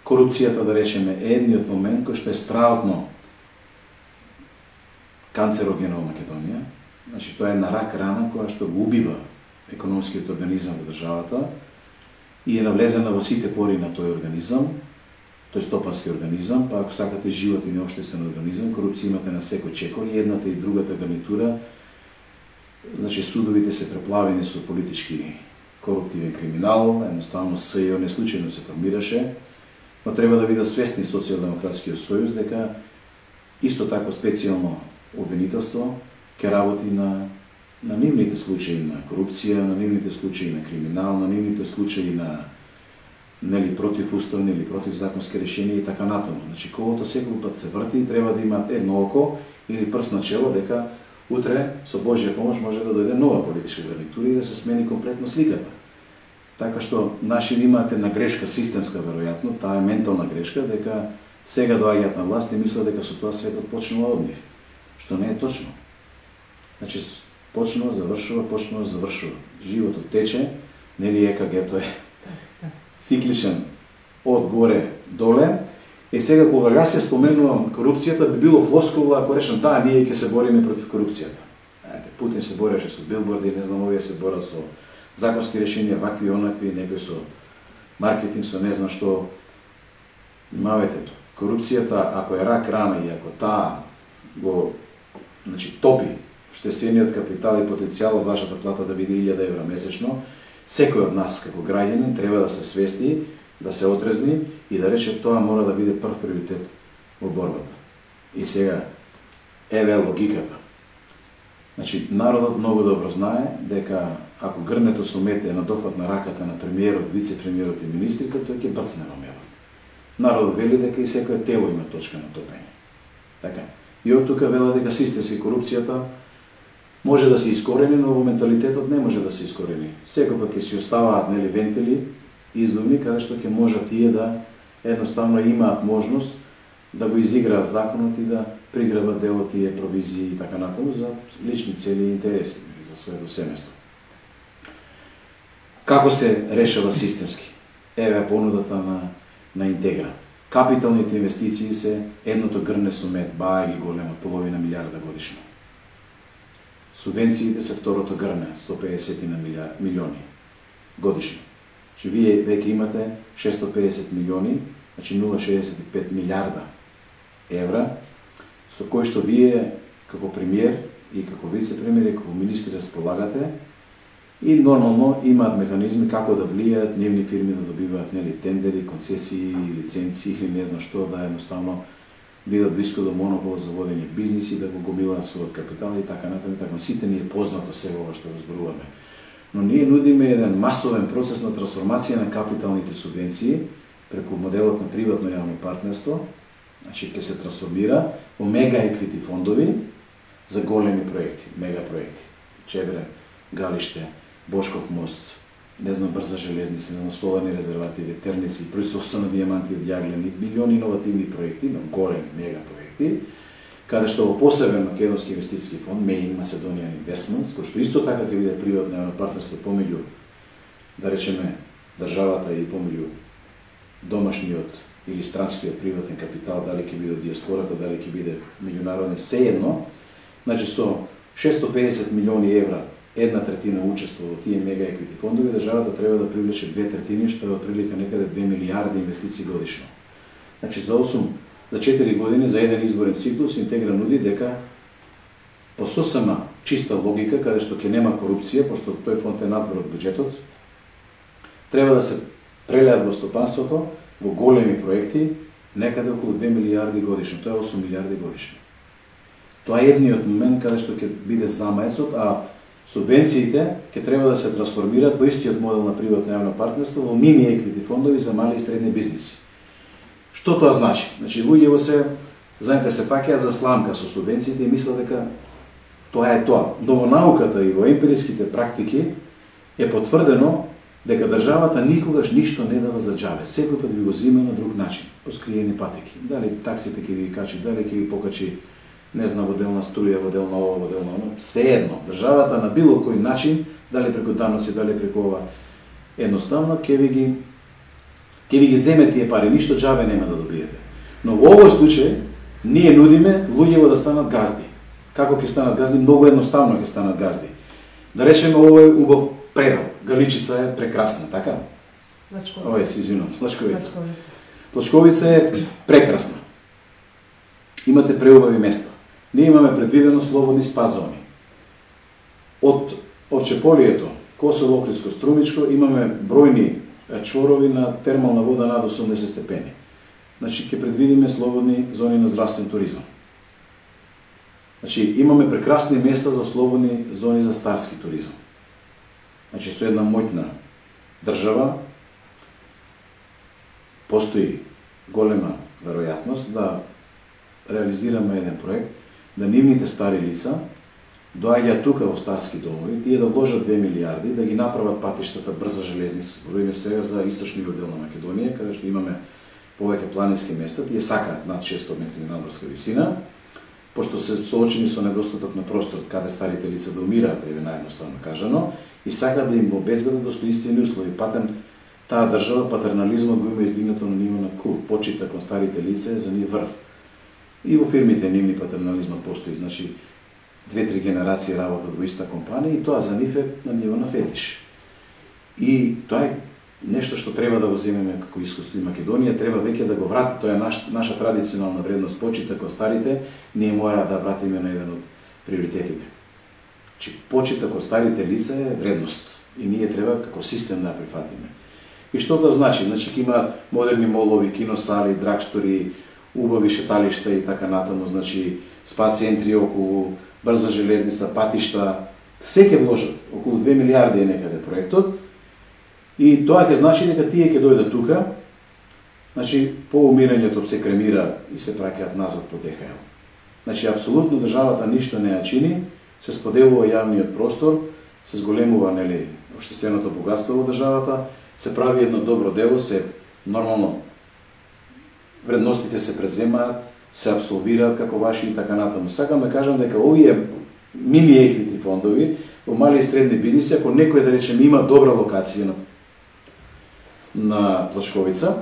Корупцијата, да речеме, е едниот момент кој што е страотно канцерогена во Македонија. Значи тоа е една рак рана која што го убива економскиот организам во државата и е навлезена во сите пори на тој организам. Тој стопански организам, па ако сакате животен и општествен организам, корупција имате на секој чекор и едната и другата гарнитура. Значи судовите се преплавени со политички коруптивен криминал, едноставно СЈО не случајно се формираше, но треба да бидат свесни Социјалдемократскиот сојуз дека исто така специјално обвинителство ќе работи на нивните случаи на корупција, на нивните случаи на криминал, на нивните случаи на противуставни или противзаконски решенија и така натаму. Значи колото секој пат се врти и треба да имат едно око или прст на чело дека утре со Божја помош може да дојде нова политичка гарнитура и да се смени комплетно сликата. Така што наши имаат една грешка системска веројатно, таа е ментална грешка дека сега доаѓаат на власт и мислат дека со тоа светот почнува од нив, што не е точно. Значи почнува, завршува. Животот тече, нели ЕКГ-то е цикличен од горе доле. И сега кога јас ја споменувам корупцијата, би било флоскула ако речам да, ние ќе се бориме против корупцијата. Путин се бореше со билборди, не знам, овие се борат со законски решенија, вакви, онакви, некои со маркетинг, со не знам што. Мавете, корупцијата, ако е рак рана и ако таа го топи обществениот капитал и потенцијал од вашата плата да биде 1000 евра месечно, секој од нас како граѓанин треба да се свести, да се отрезни и да рече тоа мора да биде прв приоритет во борбата. И сега, еве логиката. Значи, народот многу добро знае дека ако грнето со мете е на дофат на раката на премиерот, вице-премиерот и министрите, тој ќе брцне во мелот. Народот вели дека и секој тело има точка на топење. Така. И од тука вела дека системски корупцијата може да се искорени, но во менталитетот не може да се искорени. Секој пат ќе си оставаат вентили, издуми, каде што ќе можат тие да едноставно имаат можност да го изиграат законот и да приграбат дел од тие провизии и така натаму за лични цели и интереси, за своето семејство. Како се решава системски? Еве понудата на Интегра. Капиталните инвестиции се едното грне со мед, баја ги голема, половина милиарда годишно. Субвенциите се второто грне, 150 милиони годишно. Че вие веќе имате 650 милиони, значи 0,65 милиарда евра, со кој што вие како премиер и како вице-премиер и како министри располагате и нормално имаат механизми како да влијаат нивни фирми да добиваат тендери, концесии, лиценци или не знам што, да едноставно бидат блиско до монопола за водење бизниси, да го гомилаат својот капитал и така натаму. Сите ни е познато сега ова што разборуваме. Но ние нудиме еден масовен процес на трансформација на капиталните субвенции преку моделот на приватно јавно партнерство, значи ќе се трансформира во мега еквити фондови за големи проекти, мега проекти. Чебре, Галиште, Бошков мост, не знам брза железница, не знам соларни резервати, ветерници, производство на дијаманти од јаглен, милиони иновативни проекти, но големи мега проекти, каде што во посебен македонски инвестициски фонд, Main Macedonian Investments, кој што исто така ќе биде приватно јавно партнерство помеѓу, да речеме, државата и помеѓу домашниот или странскиот приватен капитал, дали ќе биде од диаспората, дали ќе биде меѓународен, сеедно, значи со 650 милиони евра, 1/3 учество во тие мега еквити фондови, државата треба да привлече 2/3, што е отприлика некаде 2 милиарди инвестиции годишно. Значи за 4 години, за еден изборен циклус, Интегра нуди дека по сосема чиста логика, каде што ќе нема корупција, пошто тој фонд е надвор од буџетот, треба да се прелеат во стопанството, во големи проекти, некаде околу 2 милиарди годишно, тоа е 8 милиарди годишно. Тоа е едниот момент каде што ќе биде замаецот, а субвенциите ќе треба да се трансформираат по истиот модел на приватно јавно партнерство во мини еквити фондови за мали и средни бизниси. Што тоа значи? Значи луѓето знаете, се фаќаат за сламка со субвенциите и мислат дека тоа е тоа. Но во науката и во емпириските практики е потврдено дека државата никогаш ништо не дава за џабе. Секој пат ви го зима на друг начин, по скриени патеки. Дали таксите ќе ви качи, дали ќе ви покачи, не знам, во делна струја, во делна ова, во делна оно, се едно. Државата на било кој начин, дали преку даноци, дали преку ова, едноставно ќе ви ги земе тие пари, ништо џабе нема да добиете. Но во овој случај ние нудиме луѓето да станат газди. Како ќе станат газди? Многу едноставно ќе станат газди. Да речеме, овој убав предал. Галичица е прекрасна, така? Плачковица. Овој се извинувам, Плачковица. Плачковица е прекрасна. Имате преубави места. Ние имаме предвидено слободни спа зони. Од Овчеполието, Косово, Охридско, Струмичко имаме бројни чворови на термална вода над 80 степени. Значи ќе предвидиме слободни зони на здравствен туризам. Значи имаме прекрасни места за слободни зони за старски туризам. Значи со една моќна држава постои голема веројатност да реализираме еден проект, да нивните стари лица доаѓаат тука во старски домови, тие да вложат 2 милиарди, да ги направат патиштата брза железница, зборуваме сега за источниот дел на Македонија, каде што имаме повеќе планински места, тие сакаат над 600 метри надморска висина, пошто се соочени со недостаток на простор каде старите лица да умираат, еве наједноставно кажано, и сакаат да им обезбедат достоинствени услови. Патен таа држава патернализмот го има издигнато на ниво на кул, почита кон старите лица е за нив врв. И во фирмите нивни патернализмот постои, значи 2-3 генерации работат во иста компанија и тоа за нив е на ниво на фетиш. И тоа е нешто што треба да го земеме како искуство и Македонија, треба веќе да го врати, тоа е наша традиционална вредност, почита кон старите, ние мора да вратиме на еден од приоритетите. Че почита кон старите лица е вредност и ние треба како систем да ја прифатиме. И што тоа значи? Значи ќе има модерни молови, киносали, драгстори, убави шеталишта и така натаму, значи спа центри околу, брза железница, патишта, се ќе вложат, околу 2 милиарди е некаде проектот. И тоа ќе значи дека тие ќе дојдат тука, значи по умирањето се кремира и се праќаат назад по ДХЛ. Значи апсолутно државата ништо не ја чини, се споделува јавниот простор, се зголемува нели општественото богатство во државата, се прави едно добро дело, се нормално вредностите се преземаат, се абсолвираат како ваши и така натаму. Сакам да кажам дека овие мини еквити фондови во мали и средни бизниси, ако некој да речеме има добра локација на Плачковица,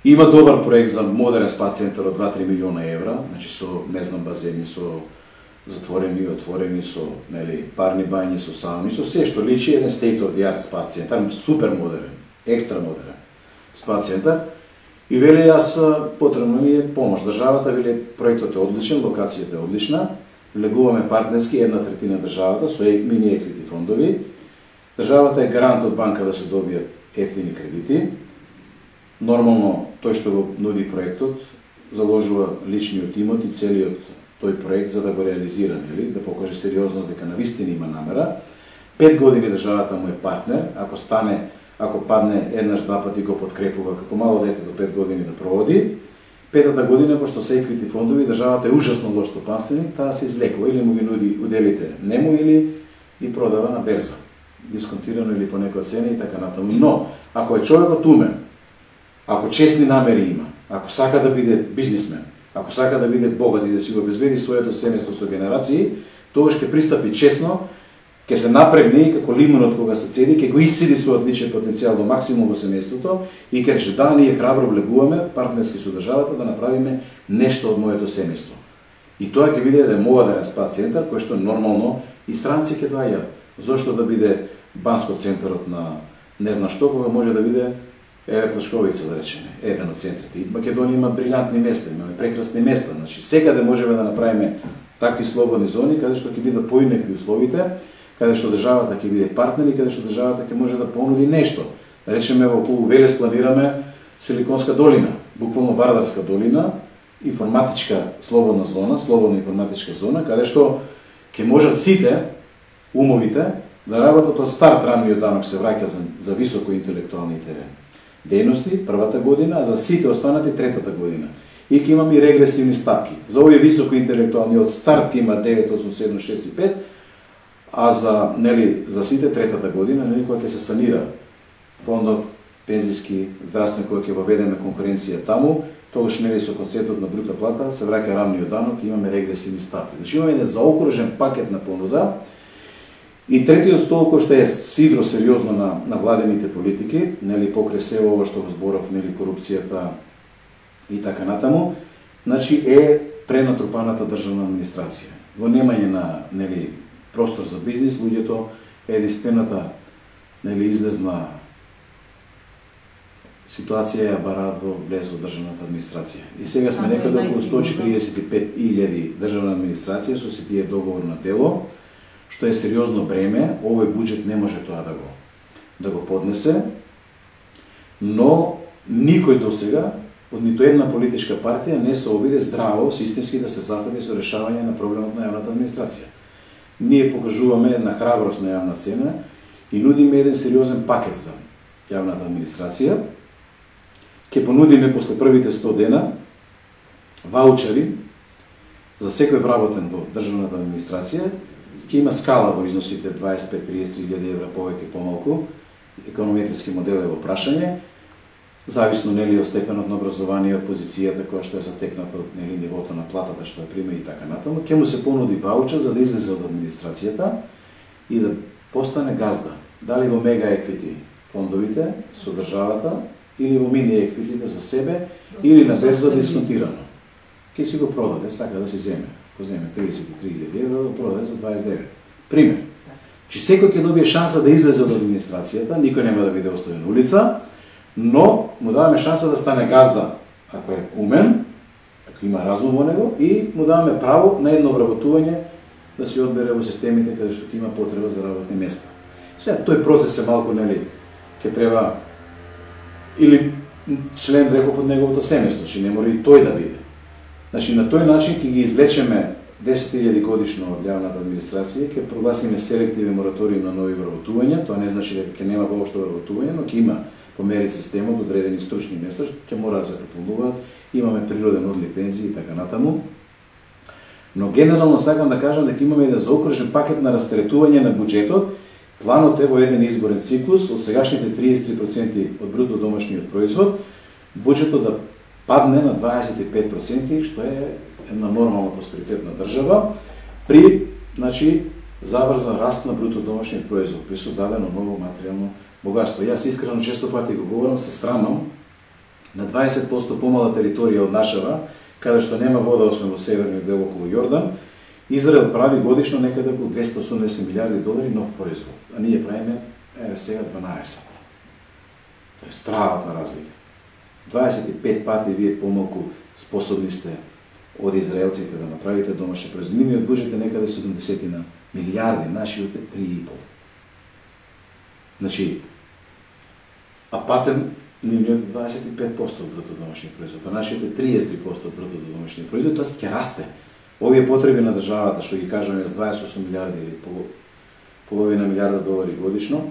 има добар проект за модерен спа центар од 2-3 милиона евра, значи со, не знам, базени, со затворени и отворени, со нели парни бањи, со сауни, со се што личи еден state of the art спа центар, супер модерен, екстра модерен спа центар. И вели јас потребно ми е помош. Државата вели проектот е одличен, локацијата е одлична, влегуваме партнерски 1/3 државата со мини еквити фондови. Државата е гарант од банка да се добијат ефтини кредити. Нормално тој што го нуди проектот заложува личниот имот и целиот тој проект за да го реализира, нели, да покаже сериозност дека навистина има намера. 5 години државата му е партнер, ако падне еднаш, два пати го подкрепува, како мало дете до 5 години да проводи. 5-та година, пошто се еквити фондови, државата е ужасно лош стопанственик, таа се излекува или му ги нуди уделите нему или ги продава на берза, дисконтирано или по некоја цена и така натаму. Но, ако е човекот умен, ако честни намери има, ако сака да биде бизнисмен, ако сака да биде богат и да си го обезбеди своето семејство со генерации, тогаш ќе пристапи честно, ќе се напрегне и како лимонот кога се цеди, ќе го исцеди својот личен потенцијал до максимум во семејството и ќе рече да, ние храбро влегуваме партнерски со државата да направиме нешто од моето семејство. И тоа ќе биде еден модерен спа центар кој што нормално и странци ќе доаѓаат. Зошто да биде Банско центарот на не знам што, кога може да биде Плачковица, да речеме, еден од центрите. И Македонија има брилјантни места, имаме прекрасни места, значи секаде можеме да направиме такви слободни зони каде што ќе бидат поинакви условите, каде што државата ќе биде партнер и каде што државата ќе може да понуди нешто. Да речеме во околу Велес планираме Силиконска долина, буквално Вардарска долина, информатичка слободна зона, слободна информатичка зона, каде што ќе можат сите умовите да работат од старт. Рамниот данок се враќа за високо интелектуалните дејности првата година, а за сите останати третата година. И ќе имаме и регресивни стапки. За овие високо интелектуални од старт ќе има 9, 8, 7, 6 и 5, а за сите третата година, кога ќе се санира фондот пензиски, здравствен, кога ќе воведеме конкуренција таму, тогаш со концептот на брута плата се враќа рамниот данок и имаме регресивни стапки. Значи имаме еден заокружен пакет на понуда. И третиот стол кој што е сидро сериозно на владените политики, покрај се ова што го зборав, корупцијата и така натаму, значи е пренатрупаната државна администрација. Во немање на простор за бизнис, луѓето единствената излезна ситуација ја бараат во влез во државната администрација. И сега сме некаде околу 145.000 државна администрација со сите тие договор на дело, што е сериозно бреме. Овој буџет не може тоа да го поднесе, но никој досега од ниту една политичка партија не се обиде здраво системски да се зафати со решавање на проблемот на јавната администрација. Ние покажуваме една храброст на јавна сцена и нудиме еден сериозен пакет за јавната администрација. Ќе понудиме после првите 100 дена ваучери за секој вработен во државната администрација. Ќе има скала во износите 25-33.000 евра повеќе помалку. Економетриски модел е во прашање, зависно од степенот на образование, од позицијата која што е затекната од нивото на платата што ја прима и така натаму. Ќе му се понуди ваучер за да излезе од администрацијата и да постане газда. Дали во мега еквити фондовите со државата или во мини еквитите за себе или на берза дисконтирано. Ќе си го продаде, сака да си земе. Ко земе 33.000 евра, да продаде за 29. Пример. Че секој ќе добие шанса да излезе од администрацијата, никој нема да биде оставен на улица, но му даваме шанса да стане газда, ако е умен, ако има разум во него, и му даваме право на едно вработување да се одбере во системите каде што ќе има потреба за работни места. Сега, тој процес е малку, ќе треба или член, реков, од неговото семејство, че не мора и тој да биде. Значи, на тој начин ќе ги извлечеме 10.000 годишно од јавната администрација, ќе прогласиме селективен мораториум на нови вработувања. Тоа не значи дека ќе нема воопшто вработување, но ќе има помери системот одредени стручни места што ќе мора да се пополнуваат. Имаме природен одлив пензии и така натаму. Но генерално сакам да кажам дека имаме еден заокружен пакет на растретување на буџетот. Планот е во еден изборен циклус од сегашните 33% од бруто домашниот производ, буџетот да падне на 25%, што е една нормална просперитетна држава, при заврзан раст на бруто домашниот производ, при создадено ново материјално богатство. Јас искрено често пати го говорам, се срамам на 20% помала територија од нашава, каде што нема вода освен во северниот дел околу Јордан, Израел прави годишно некаде околу 280 милиарди долари нов производ, а ние правиме сега 12. Тоа е страватна разлика. 25 пати вие помалку способни сте од израелците да направите домашни производ. Нивниот буџет е некаде 70 милиарди, нашиот е 3,5. Значи, а патен нивниот е 25% од бруто домашниот производ, а нашиот е 33% од бруто домашниот производ, тоа ќе расте. Овие потреби на државата, што ги кажаме, 28 милиарди или половина милиарда долари годишно,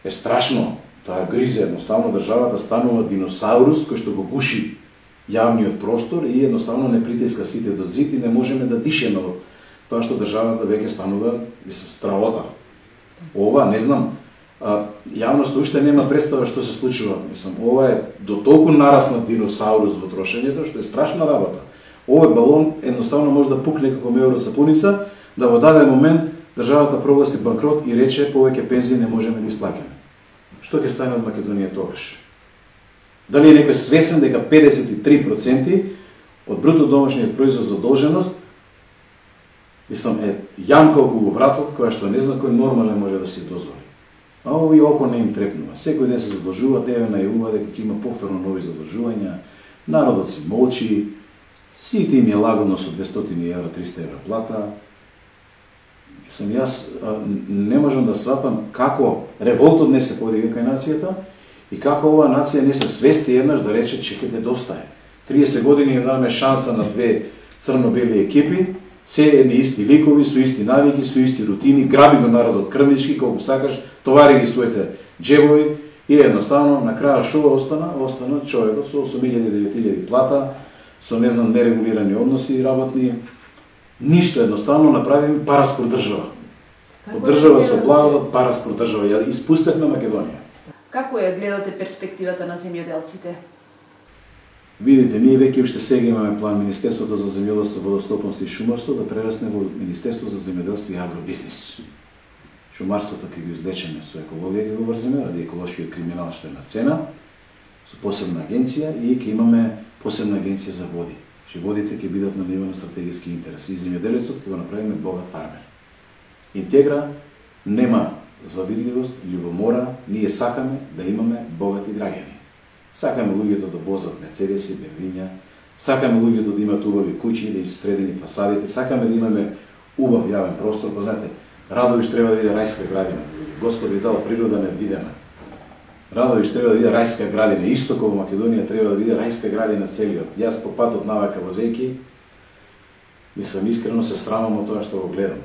е страшно. Тоа гризе, едноставно државата станува диносаурус кој што го гуши јавниот простор и едноставно не притиска сите до зид и не можеме да дишеме од тоа што државата веќе станува страота. Ова, не знам, јавноста уште нема представа што се случува. Ова е до толку нараснат диносаурус во трошењето, што е страшна работа. Овој балон едноставно може да пукне како меуро сапуница, да во даден момент државата прогласи банкрот и рече повеќе пензии не можеме да исплаќаме. Што ќе стане од Македонија тогаш? Дали е некој свесен дека 53% од бруто домашниот производ задолженост е јамка околу вратот која што не зна кој нормален може да си дозволи. А овие око не им трепнува. Секој ден се задолжуваат, еве најавува дека ќе има повторно нови задолжувања, народот си молчи, Сите им е лагодно со 200 евра, 300 евра плата. Јас не можам да сватам како револтот не се подига кај нацијата и како оваа нација не се свести еднаш да рече че ќе недостае. 30 години ја даваме шанса на две црно-бели екипи, се едни исти ликови, со исти навики, со исти рутини, граби го народот крвнички, колку сакаш, товари ги своите джебови и едноставно на крај шо остана? Остана човекот со 8.000-9.000 плата, со не знам нерегулирани односи работни. Ништо, едноставно направим параспор држава. Од држава со благодат, параспор држава. Ја испустевме Македонија. Како ја гледате перспективата на земјоделците? Видите, ние веќе уште сега имаме план Министерството за земјоделство, водостопанство и шумарство да прерасне во Министерство за земјоделство и агробизнис. Шумарството ќе го извлечеме со екологија, ќе го врземе, ради еколошкиот криминал што е на сцена, со посебна агенција и ќе имаме посебна агенција за води. Водите ќе бидат на ниво на стратегиски интерес и земјоделецот ќе го направиме богат фармер. Интегра нема завидливост, љубомора, ние сакаме да имаме богати граѓани. Сакаме луѓето да возат мерцедеси, бемвиња, сакаме луѓето да имаат убави куќи, да им се средени фасадите, сакаме да имаме убав јавен простор, па знаете, Радовиш треба да види рајска градина. Господ ви дал природа невидена. Радовиш треба да види рајска градина, исто како во Македонија треба да види рајска градина целиот. Јас по патот навака возејки, мислам искрено се срамам од тоа што го гледам.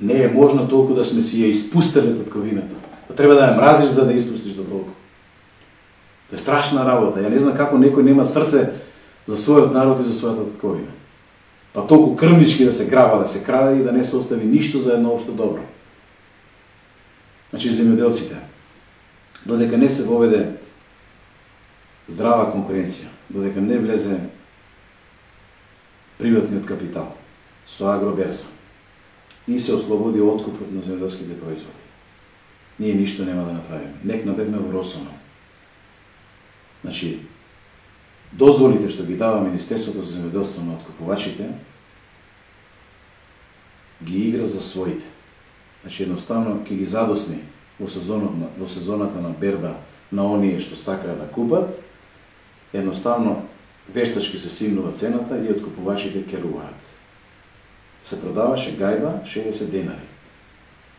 Не е можно толку да сме си ја испустеле татковината. Треба да ја мразиш за да испустиш до толку. Тоа е страшна работа. Ја не знам како некој нема срце за својот народ и за својата татковина. Па толку крвнички да се граба, да се краде и да не се остави ништо за едно општо добро. Значи земјоделците, додека не се воведе здрава конкуренција, додека не влезе приватниот капитал со агроберса и се ослободи откупот на земјоделските производи, ние ништо нема да направиме. Нек набегме во Росоно. Значи, дозволите што ги дава Министерството за земјоделство на откупувачите, ги игра за своите. Значи, едноставно ќе ги задосни во сезоната на берба на оние што сакаат да купат, едноставно вештачки се симнува цената и откупувачите керуваат. Се продаваше гајба 60 денари,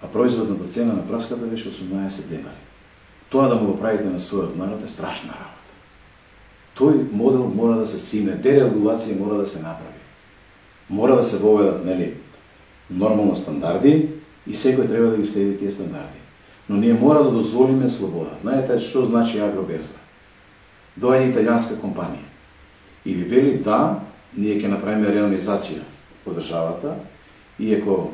а производната цена на праската беше 18 денари. Тоа да му го правите на својот народ е страшна работа. Тој модел мора да се сине, дерегулација мора да се направи. Мора да се воведат, нели, нормално стандарди и секој треба да ги следи тие стандарди. Но ние мора да дозволиме слобода. Знаете што значи агроберза? Доаѓа италијанска компанија и ви вели да, ние ќе направиме реализација во државата, иако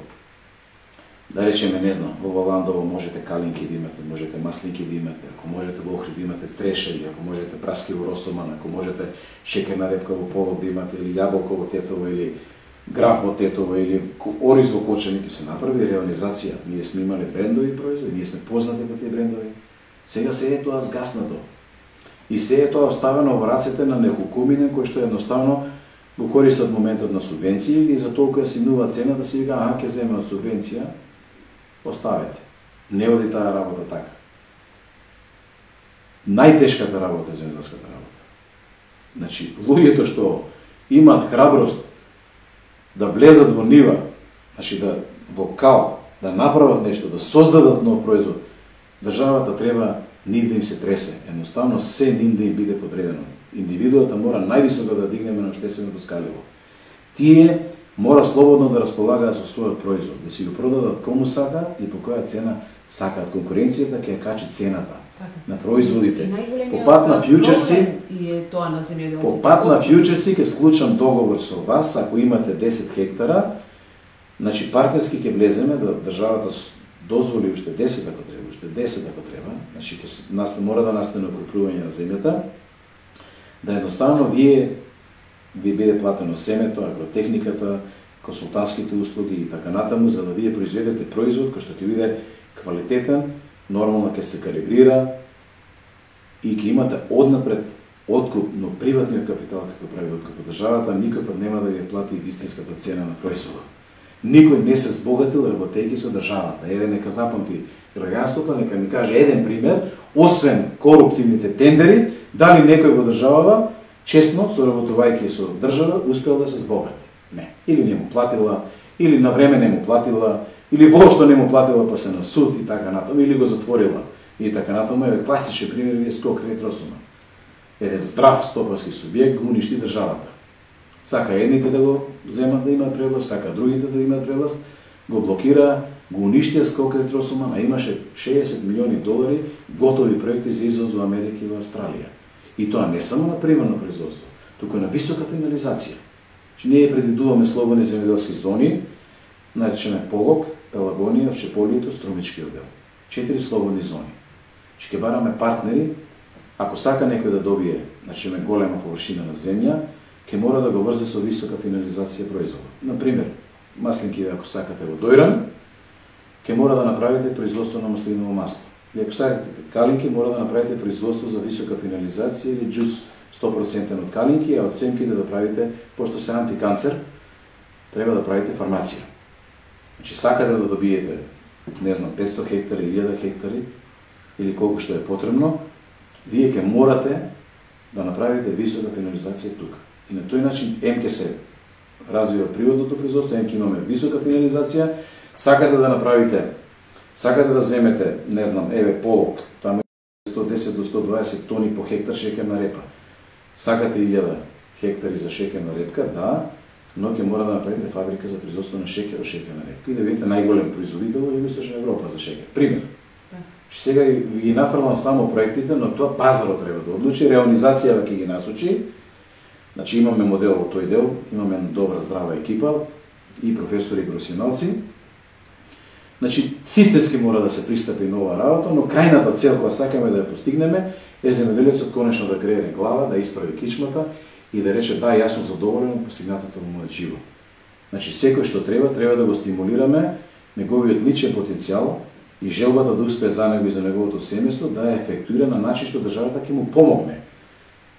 да речеме, не знам, во Валандово можете калинки да имате, можете маслинки да имате, ако можете во Охрид да имате црешели, ако можете праски во Росоман, ако можете шекерна репка во Полог да имате, или јаболко во Тетово, или граб во Тетово, или ориз во Кочани, ќе се направи реализација. Ние сме имале брендови производи, ние сме познати по тие брендови. Сега се е тоа згаснато. И се е тоа оставено во рацете на неколкумине кои што едноставно го користат моментот на субвенции и за толку ја симнува цена да се вика, ќе земе од субвенција, оставете. Не оди таа работа така. Најтешката работа е земјоделската работа. Значи, луѓето што имаат храброст да влезат во нива, значи да во кал, да направат нешто, да создадат нов производ, државата треба нив да им се тресе. Едноставно се нив да им биде подредено. Индивидуата мора највисоко да дигнеме на општественото скаливо. Тие мора слободно да располагаат со својот производ, да си го продадат кому сакаат и по која цена сакаат. Конкуренцијата ќе ја качи цената на производите. По пат на фјучерси, ќе склучам договор со вас, ако имате 10 хектара, значи партнерски ќе влеземе да државата дозволи уште 10 ако треба, уште 10 ако треба, значи мора да настане окрупнување на земјата, да едноставно ви биде платено семето, агротехниката, консултантските услуги и така натаму, за да вие произведете производ кој што ќе биде квалитетен, нормално ќе се калибрира и ќе имате однапред откуп, но приватниот капитал како прави откуп од државата никој пат нема да ви плати вистинската цена на производот. Никој не се збогатил работејќи со државата. Еве нека запамти граѓанството, нека ми каже еден пример, освен коруптивните тендери, дали некој во државава честно, соработувајќи со држава, успел да се збогати. Не. Или не му платила, или на време не му платила, или воопшто не му платила па се на суд и така натаму, или го затворила и така натаму. Еве класичен пример е Скок Ретросума. Еден здрав стопански субјект го уништи државата. Сака едните да го земат да имаат превласт, сака другите да имаат превласт, го блокира, го уништија Скок Ретросума, а имаше $60 милиони готови проекти за извоз во Америка и во Австралија. И тоа не само на примерно производство, туку на висока финализација. Ние предвидуваме слободни земјоделски зони, наречеме Полог, Пелагонија, Овчеполието, Струмички оддел. 4 слободни зони. Ќе бараме партнери, ако сака некој да добие, значи голема површина на земја, ќе мора да го врзе со висока финализација производа. Например, маслинки, ако сакате во Дојран, ќе мора да направите производство на маслиново масло. И ако сакате калинки, мора да направите производство за висока финализација или джус 100% од калинки, а од семките да правите, пошто се антиканцер, треба да правите фармација. Значи, сакате да добиете, не знам, 500 хектари, 1000 хектари, или колку што е потребно, вие ќе морате да направите висока финализација тука. И на тој начин МК се развива природното производство, МК имаме висока финализација, сакате да направите, сакате да земете, не знам, еве Полог, таму е 110 до 120 тони по хектар шеќерна репа. Сакате 1000 хектари за шеќерна репка, да, но ќе мора да направите фабрика за производство на шеќер од шеќерна репка и да видите најголем производител во Југоисточна Европа за шеќер. Пример. Сега ги нафрлам само проектите, но тоа пазарот треба да одлучи, реализацијата ќе ги насочи. Значи имаме модел во тој дел, имаме добра здрава екипа и професори и професионалци. Значи системски мора да се пристапи на ова работа, но крајната цел која сакаме да ја постигнеме е земјоделецот конечно да грене глава, да исправи кичмата и да рече да, јас сум задоволен од постигнатото во мојот живот. Значи секој што треба да го стимулираме неговиот личен потенцијал и желбата да успее за него и за неговото семејство да ја ефектуира на начин што државата ќе му помогне.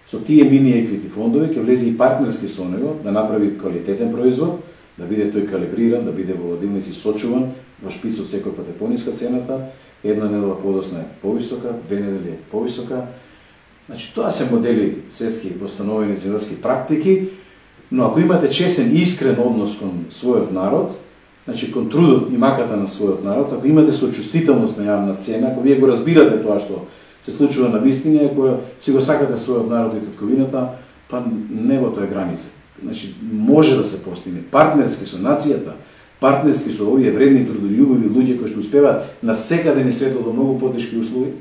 Со тие мини еквити фондови ќе влезе и партнерски со него да направи квалитетен производ, да биде тој калибриран, да биде во ладилници сочуван, во шпицот секој пат е пониска цената, една недела подосна е повисока, 2 недели е повисока. Значи тоа се модели светски постановени земјоделски практики, но ако имате честен и искрен однос кон својот народ, значи кон трудот и маката на својот народ, ако имате сочувствителност на јавна сцена, ако вие го разбирате тоа што се случува на вистина, ако си го сакате својот народ и татковината, па небото е граница. Значи може да се постигне партнерски со нацијата, партнерски со овие вредни трудолюбиви луѓе кои што успеваат на секаде ни светот во многу потешки услови.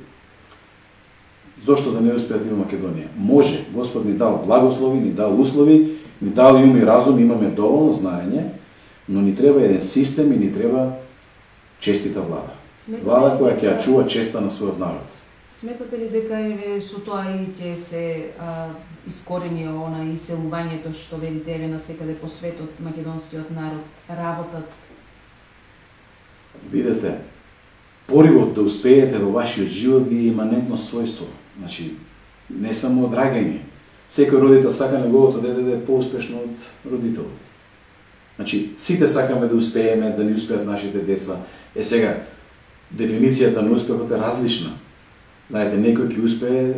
Зошто да не успеат и во Македонија? Може, Господ ни дал благослови, ни дал услови, ни дал и ум и разум, имаме доволно знаење, но ни треба еден систем и ни треба честита влада. Влада која ќе ја чува честа на својот народ. Сметате ли дека еве со тоа и ќе се искорени она иселувањето што видите еве насекаде по светот македонскиот народ работат? Видете, поривот да успеете во вашиот живот ви е иманентно својство. Значи, не само одрагање. Секој родител сака неговото дете да е поуспешно од родителот. Значи, сите сакаме да успееме, да ни успеат нашите деца. Е сега, дефиницијата на успехот е различна. Знаете, некој ќе успее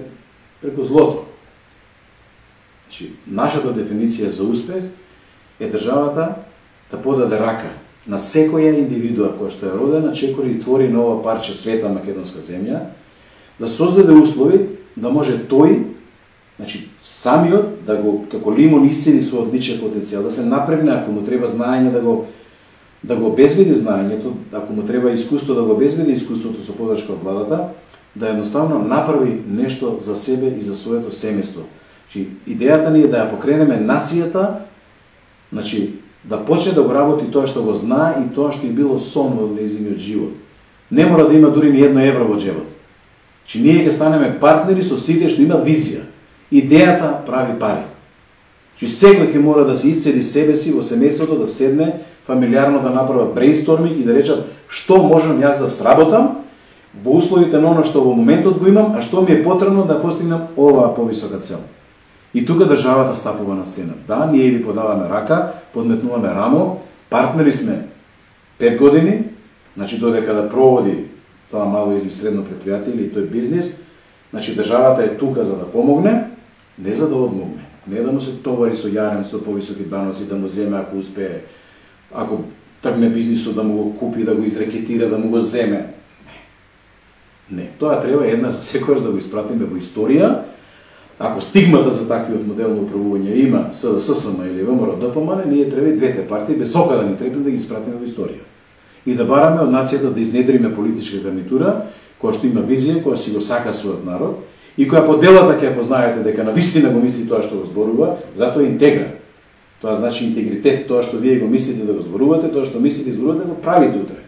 преку злото. Значи, нашата дефиниција за успех е државата да подаде рака на секоја индивидуа која што е родена, чекори и твори нова парче света македонска земја, да создаде услови да може тој, значи самиот да го како лимон исцели својот личен потенцијал, да се напрегне ако му треба знаење да го обезбеди знаењето, ако му треба искуство да го обезбеди искуството со подршка од владата, да едноставно направи нешто за себе и за своето семејство. Значи идејата ни е да ја покренеме нацијата, значи да почне да го работи тоа што го знае и тоа што е било сон во нејзиниот живот. Не мора да има дури ни едно евро во джебот. Че ние ќе станеме партнери со сите што имаат визија. Идејата прави пари. Че секој ќе мора да се исцели себе си во семејството, да седне фамилиарно да направат брейнсторминг и да речат што можам јас да сработам во условите на оно што во моментот го имам, а што ми е потребно да постигнам оваа повисока цел. И тука државата стапува на сцена. Да, ние ви подаваме рака, подметнуваме рамо, партнери сме 5 години, значи додека да проводи тоа мало или средно предпријатие или тој бизнис, значи државата е тука за да помогне, не за да одмогне. Не да му се товари со јарен, со повисоки даноци, да му земе ако успее, ако тргне бизнисот да му го купи, да го изрекетира, да му го земе. Не, тоа треба една за секојаш да го испратиме во историја. Ако стигмата за таквиот модел на управување има СДСМ или ВМРО ДПМН, ние треба и двете партии без ока да ни трепне да ги испратиме во историја. И да бараме од нацијата да изнедриме политичка гарнитура која што има визија, која си го сака својот народ и која по делата ќе познаете дека навистина го мисли тоа што го зборува, затоа интегра. Тоа значи интегритет, тоа што вие го мислите да го зборувате, тоа што мислите да зборувате, го правите утре.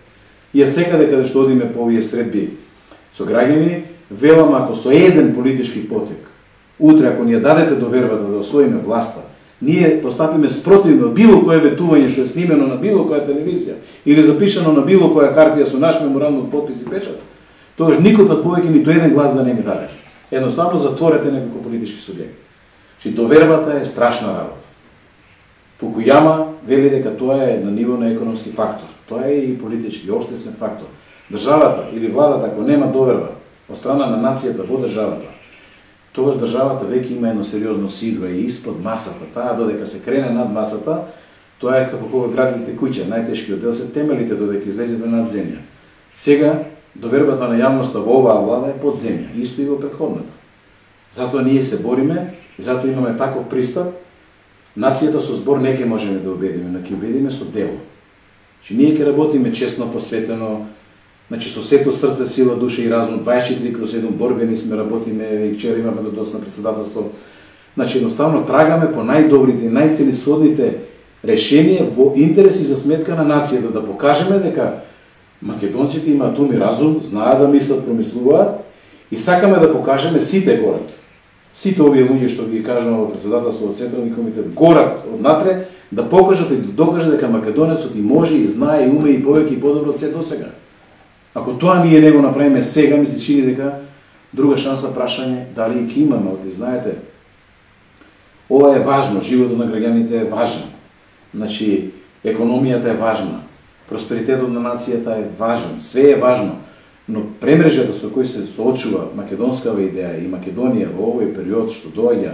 И ја секаде каде што одиме по овие средби со граѓани, велам ако со еден политички потек, утре ако ни ја дадете довербата да освоиме власта, ние постапиме спротивно од било кое ветување што е снимено на било која телевизија или запишано на било која хартија со наш меморандум подпис и печат, тогаш никој пат повеќе ниту еден глас да не ни даде. Едноставно затворете некој политички субјект. Чи довербата е страшна работа. Фукујама вели дека тоа е на ниво на економски фактор. Тоа е и политички, општествен фактор. Државата или владата ако нема доверба од страна на нацијата во државата, тогаш државата веќе има едно сериозно сидва и испод масата. Таа додека се крене над масата, тоа е како кога градите куќа, најтешкиот дел се темелите додека излезете над земја. Сега довербата на јавноста во оваа влада е под земја, исто и во претходната. Затоа ние се бориме, и затоа имаме таков пристап. Нацијата со збор не ќе можеме да убедиме, но ќе убедиме со дело. Че ние ќе работиме честно, посветено, значи со сето срце, сила, душа и разум, 24/7 борбени сме, работиме, и вчера имаме додосно председателство. Значи едноставно трагаме по најдобрите и најцелисhodните решенија во интерес и за сметка на нацијата, да покажеме дека македонците имаат ум и разум, знаат да мислат, промислуваат и сакаме да покажеме сите горат. Сите овие луѓе што ги кажувам во председателство од Централни комитет горат однатре да покажат и да докажат дека македонецот и може и знае и уме и повеќе и подобро од се досега. Ако тоа ние не го направиме сега, ми се чини дека друга шанса прашање дали и ќе имаме, оти знаете. Ова е важно, животот на граѓаните е важен. Значи економијата е важна, просперитетот на нацијата е важен, све е важно. Но премрежата со кој се соочува македонскава идеја и Македонија во овој период што доаѓа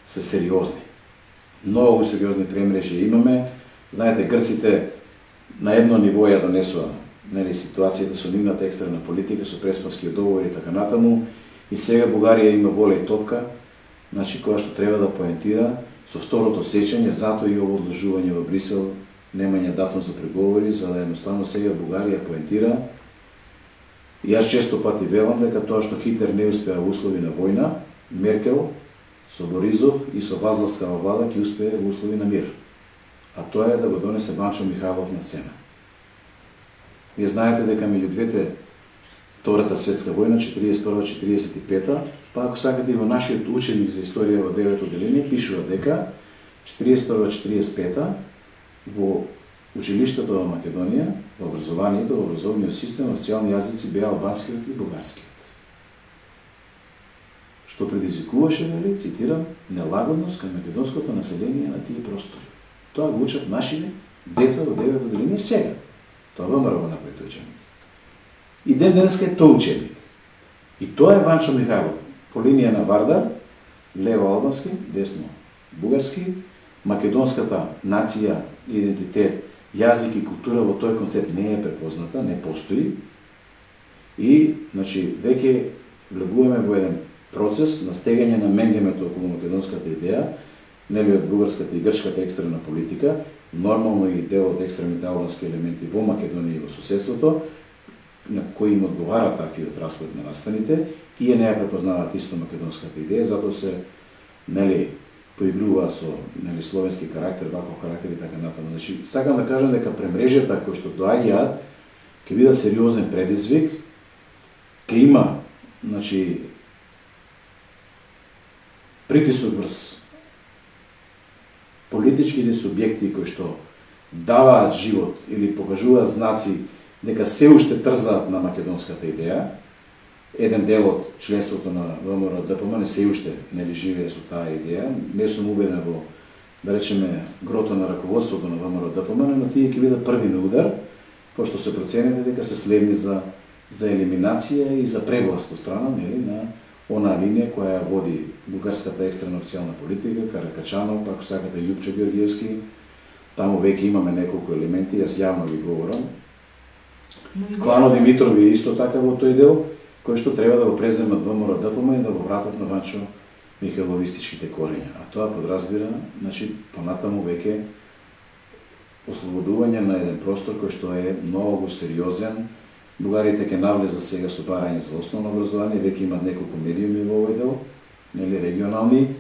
се сериозни. Многу сериозни премрежи имаме. Знаете, грците на едно ниво ја донесува ситуацијата со нивната екстерна политика, со преспански договори и така натаму. И сега Бугарија има воля и топка, значи која што треба да поентира со второто сечење, затоа и ово одложување во Брисел, немање датум за преговори, за да едноставно сега Бугарија поентира. И јас често пати велам дека тоа што Хитлер не успеа во услови на војна, Меркел со Боризов и со Вазелскава влада ќе успее во услови на мир. А тоа е да го донесе Банчо Михайлов на сцена. Вие знаете дека меѓу двете, Втората светска војна, 41-45, па ако сакате и во нашиот ученик за историја во 9 одделение, пишува дека 41-45 во училиштата во Македонија, во образованието, во образовниот систем, официјални јазици беа албанскиот и бугарскиот. Што предизвикуваше, вели, цитирам, нелагодност кон македонското население на тие простори. Тоа го учат нашите деца во 9 одделение сега. Тоа ВМРО го направи тој учебник. И ден денеска е тој учебник. И тоа е Ванчо Михайлов. По линија на Вардар, лево албански, десно бугарски, македонската нација, идентитет, јазик и култура во тој концепт не е препозната, не постои. И, значи, веќе влегуваме во еден процес на стегање на менгемето околу македонската идеја, нели од бугарската и грчката екстерна политика, нормално и дел од екстремните албански елементи во Македонија и во соседството, на кои им одговара таквиот распоред на настаните, тие не ја препознаваат исто македонската идеја, затоа се, нели, поигрува со, нели, словенски карактер, ваков карактер и така натаму. Значи, сакам да кажам дека премрежата кои што доаѓаат ќе биде сериозен предизвик, ќе има, значи, притисок врз политичките субјекти кои што даваат живот или покажуваат знаци дека се уште трзаат на македонската идеја. Еден дел од членството на ВМРО ДПМН се уште нели живее со таа идеја. Не сум убеден во, да речеме, грото на раководството на ВМРО ДПМН, но тие ќе бидат први на удар, пошто се проценете дека се следни за елиминација и за превласт од страна, нели, на онаа линија која води бугарската екстрена официјална политика, Каракачанов, ако сакате Љупчо Георгиевски. Таму веќе имаме неколку елементи, јас јавно ви говорам. Клано Димитрови е исто така во тој дел, кој што треба да го преземат ВМРО-ДПМ и да го вратат на Ванчо Михайловистичките корења. А тоа подразбира, значи, понатаму веќе ослободување на еден простор кој што е многу сериозен. Бугарите ќе навлезат сега со барање за основно образование, веќе имат неколку медиуми во овој дел, нели регионални.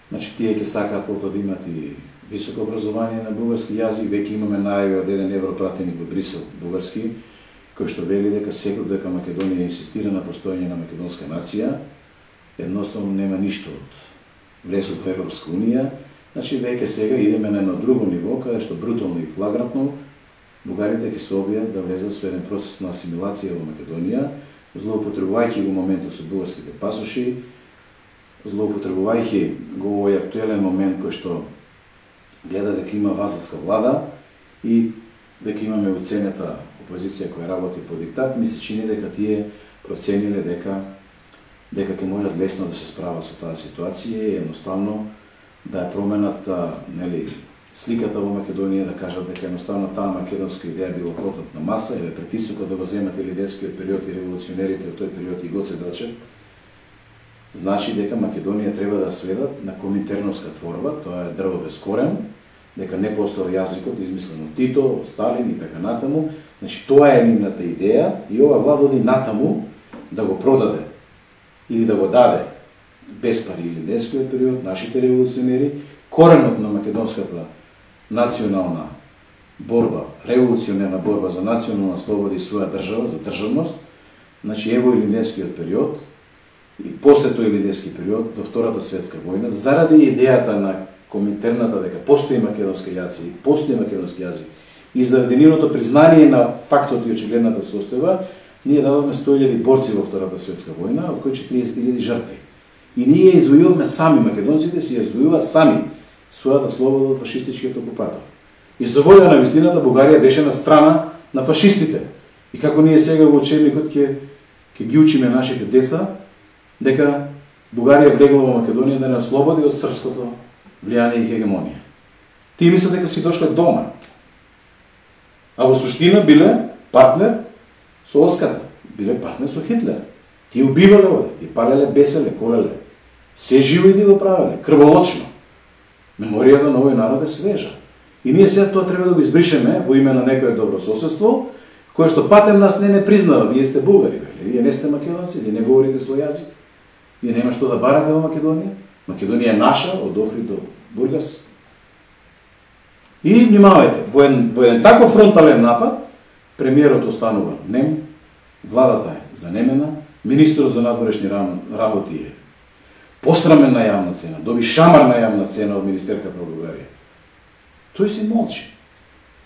Значи тие ќе сакаат потоа да имат и високо образование на бугарски јазик. Веќе имаме најави од еден европратеник во Брисел бугарски, кој што вели дека дека Македонија инсистира на постоење на македонска нација, едноставно нема ништо од влезот во Европска унија. Значи веќе сега идеме на едно друго ниво, каде што брутално и флагрантно бугарите ќе се обијат да влезат со еден процес на асимилација во Македонија, злоупотребувајќи го моментот со бугарските пасоши, злоупотребувајќи го овој актуелен момент кој што гледа дека има вазалска влада и дека имаме уценета опозиција која работи по диктат, ми се чини дека тие процениле дека ќе можат лесно да се справат со таа ситуација и едноставно да ја променат нели сликата во Македонија, да кажат дека едноставно таа македонска идеја била флотот на маса, еве притисокот да го земат илиденскиот период и револуционерите од тој период и Гоце Делчев, значи дека Македонија треба да сведат на коминтерновска творба, тоа е дрво без корен, дека не постои јазикот измислен од Тито, Сталин и така натаму. Значи тоа е нивната идеја и ова влада оди натаму да го продаде или да го даде без пари илиденскиот период, нашите револуционери, коренот на македонската национална борба, револуционерна борба за национална слобода и своја држава, за државност, значи ево илиденскиот период и после тој илиденски период до Втората светска војна, заради идејата на коминтерната дека постои македонски јазик, и заради нивното признание на фактот и очигледната состојба, ние дадовме 100.000 борци во Втората светска војна, од кои 40.000 жртви. И ние извојуваме сами, македонците си извојуваат сами својата слобода од фашистичкиот окупатор. И за волја на вистината Бугарија беше на страна на фашистите. И како ние сега во учебникот ќе ги учиме нашите деца дека Бугарија влегла во Македонија да не ослободи од српското влијание и хегемонија. Тие мислат дека си дошле дома. А во суштина биле партнер со Оската, биле партнер со Хитлер. Тие убивале овде, тие палеле, беселе, колеле. Се живо и го правеле, крволочно. Меморијата на овој народ е свежа. И ние сега тоа треба да го избришеме во име на некое добрососедство, кое што патем нас не признава. Вие сте бугари, вие не сте македонци, вие не говорите свој јазик. Вие нема што да барате во Македонија. Македонија е наша, од Охрид до Бургас. И внимавајте, во еден таков фронтален напад, премиерот останува нем, владата е занемена, министрот за надворешни работи е посрамен на јавна цена, доби шамар на јавна цена од министерката во Бугарија. Тој си молчи.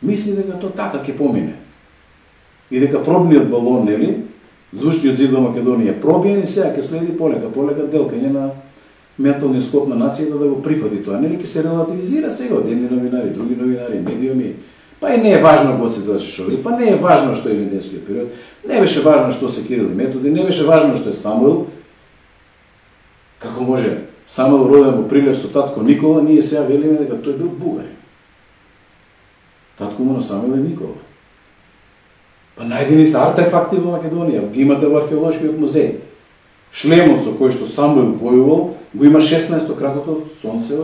Мисли дека тоа така ќе помине. И дека пробниот балон, нели, звучниот зид во Македонија е пробиен и сега ќе следи полека делкање на менталниот склоп на нацијата да го прифати тоа. Нели ќе се релативизира сега од едни новинари, други новинари, медиуми. Па и не е важно Гоце Делчев, па не е важно што е илиденскиот период, не беше важно што се Кирил и Методи, не беше важно што е Самуил. Како може Самуил роден во Прилеп со татко Никола, ние сега велиме дека тој бил бугарин. Татко му на Самуил е Никола. Па најдени се артефакти во Македонија, ги имате во археолошкиот музеј. Шлемот со кој што Самуил војувал, го има 16-кратото сонце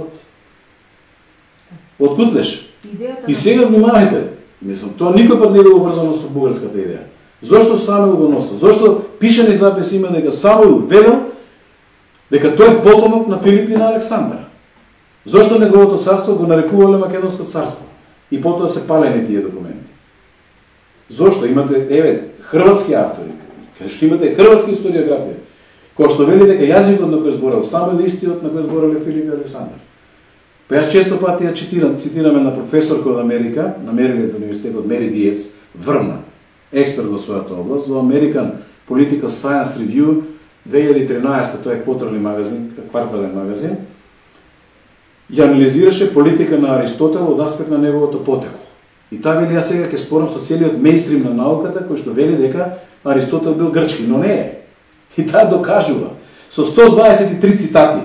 од Кутлеш. И сега внимавајте, мислам, тоа никој пат не било врзано со бугарската идеја. Зошто Самуил го носа? Зошто пишани записи има дека Самуил велел дека тој потомок на Филип и на Александар? Зошто неговото царство го нарекувале Македонско царство? И потоа се палени тие документи. Зошто? Имате, хрватски автори, каде што имате хрватски историографија, кој што вели дека јазикот на кој зборел Самуил истиот на кој збореле Филип и Александар. Па јас често пати ја цитираме на професорка од Америка, на Мерилинд универзитетот Мери Диец, врна, експерт во својата област, во American Political Science Review 2013, тоа е квартален магазин, ја анализираше политика на Аристотел од аспект на неговото потекло. И таа вели, јас сега ќе спорам со целиот мејнстрим на науката, кој што вели дека Аристотел бил грчки, но не е. И таа докажува. со 123 цитати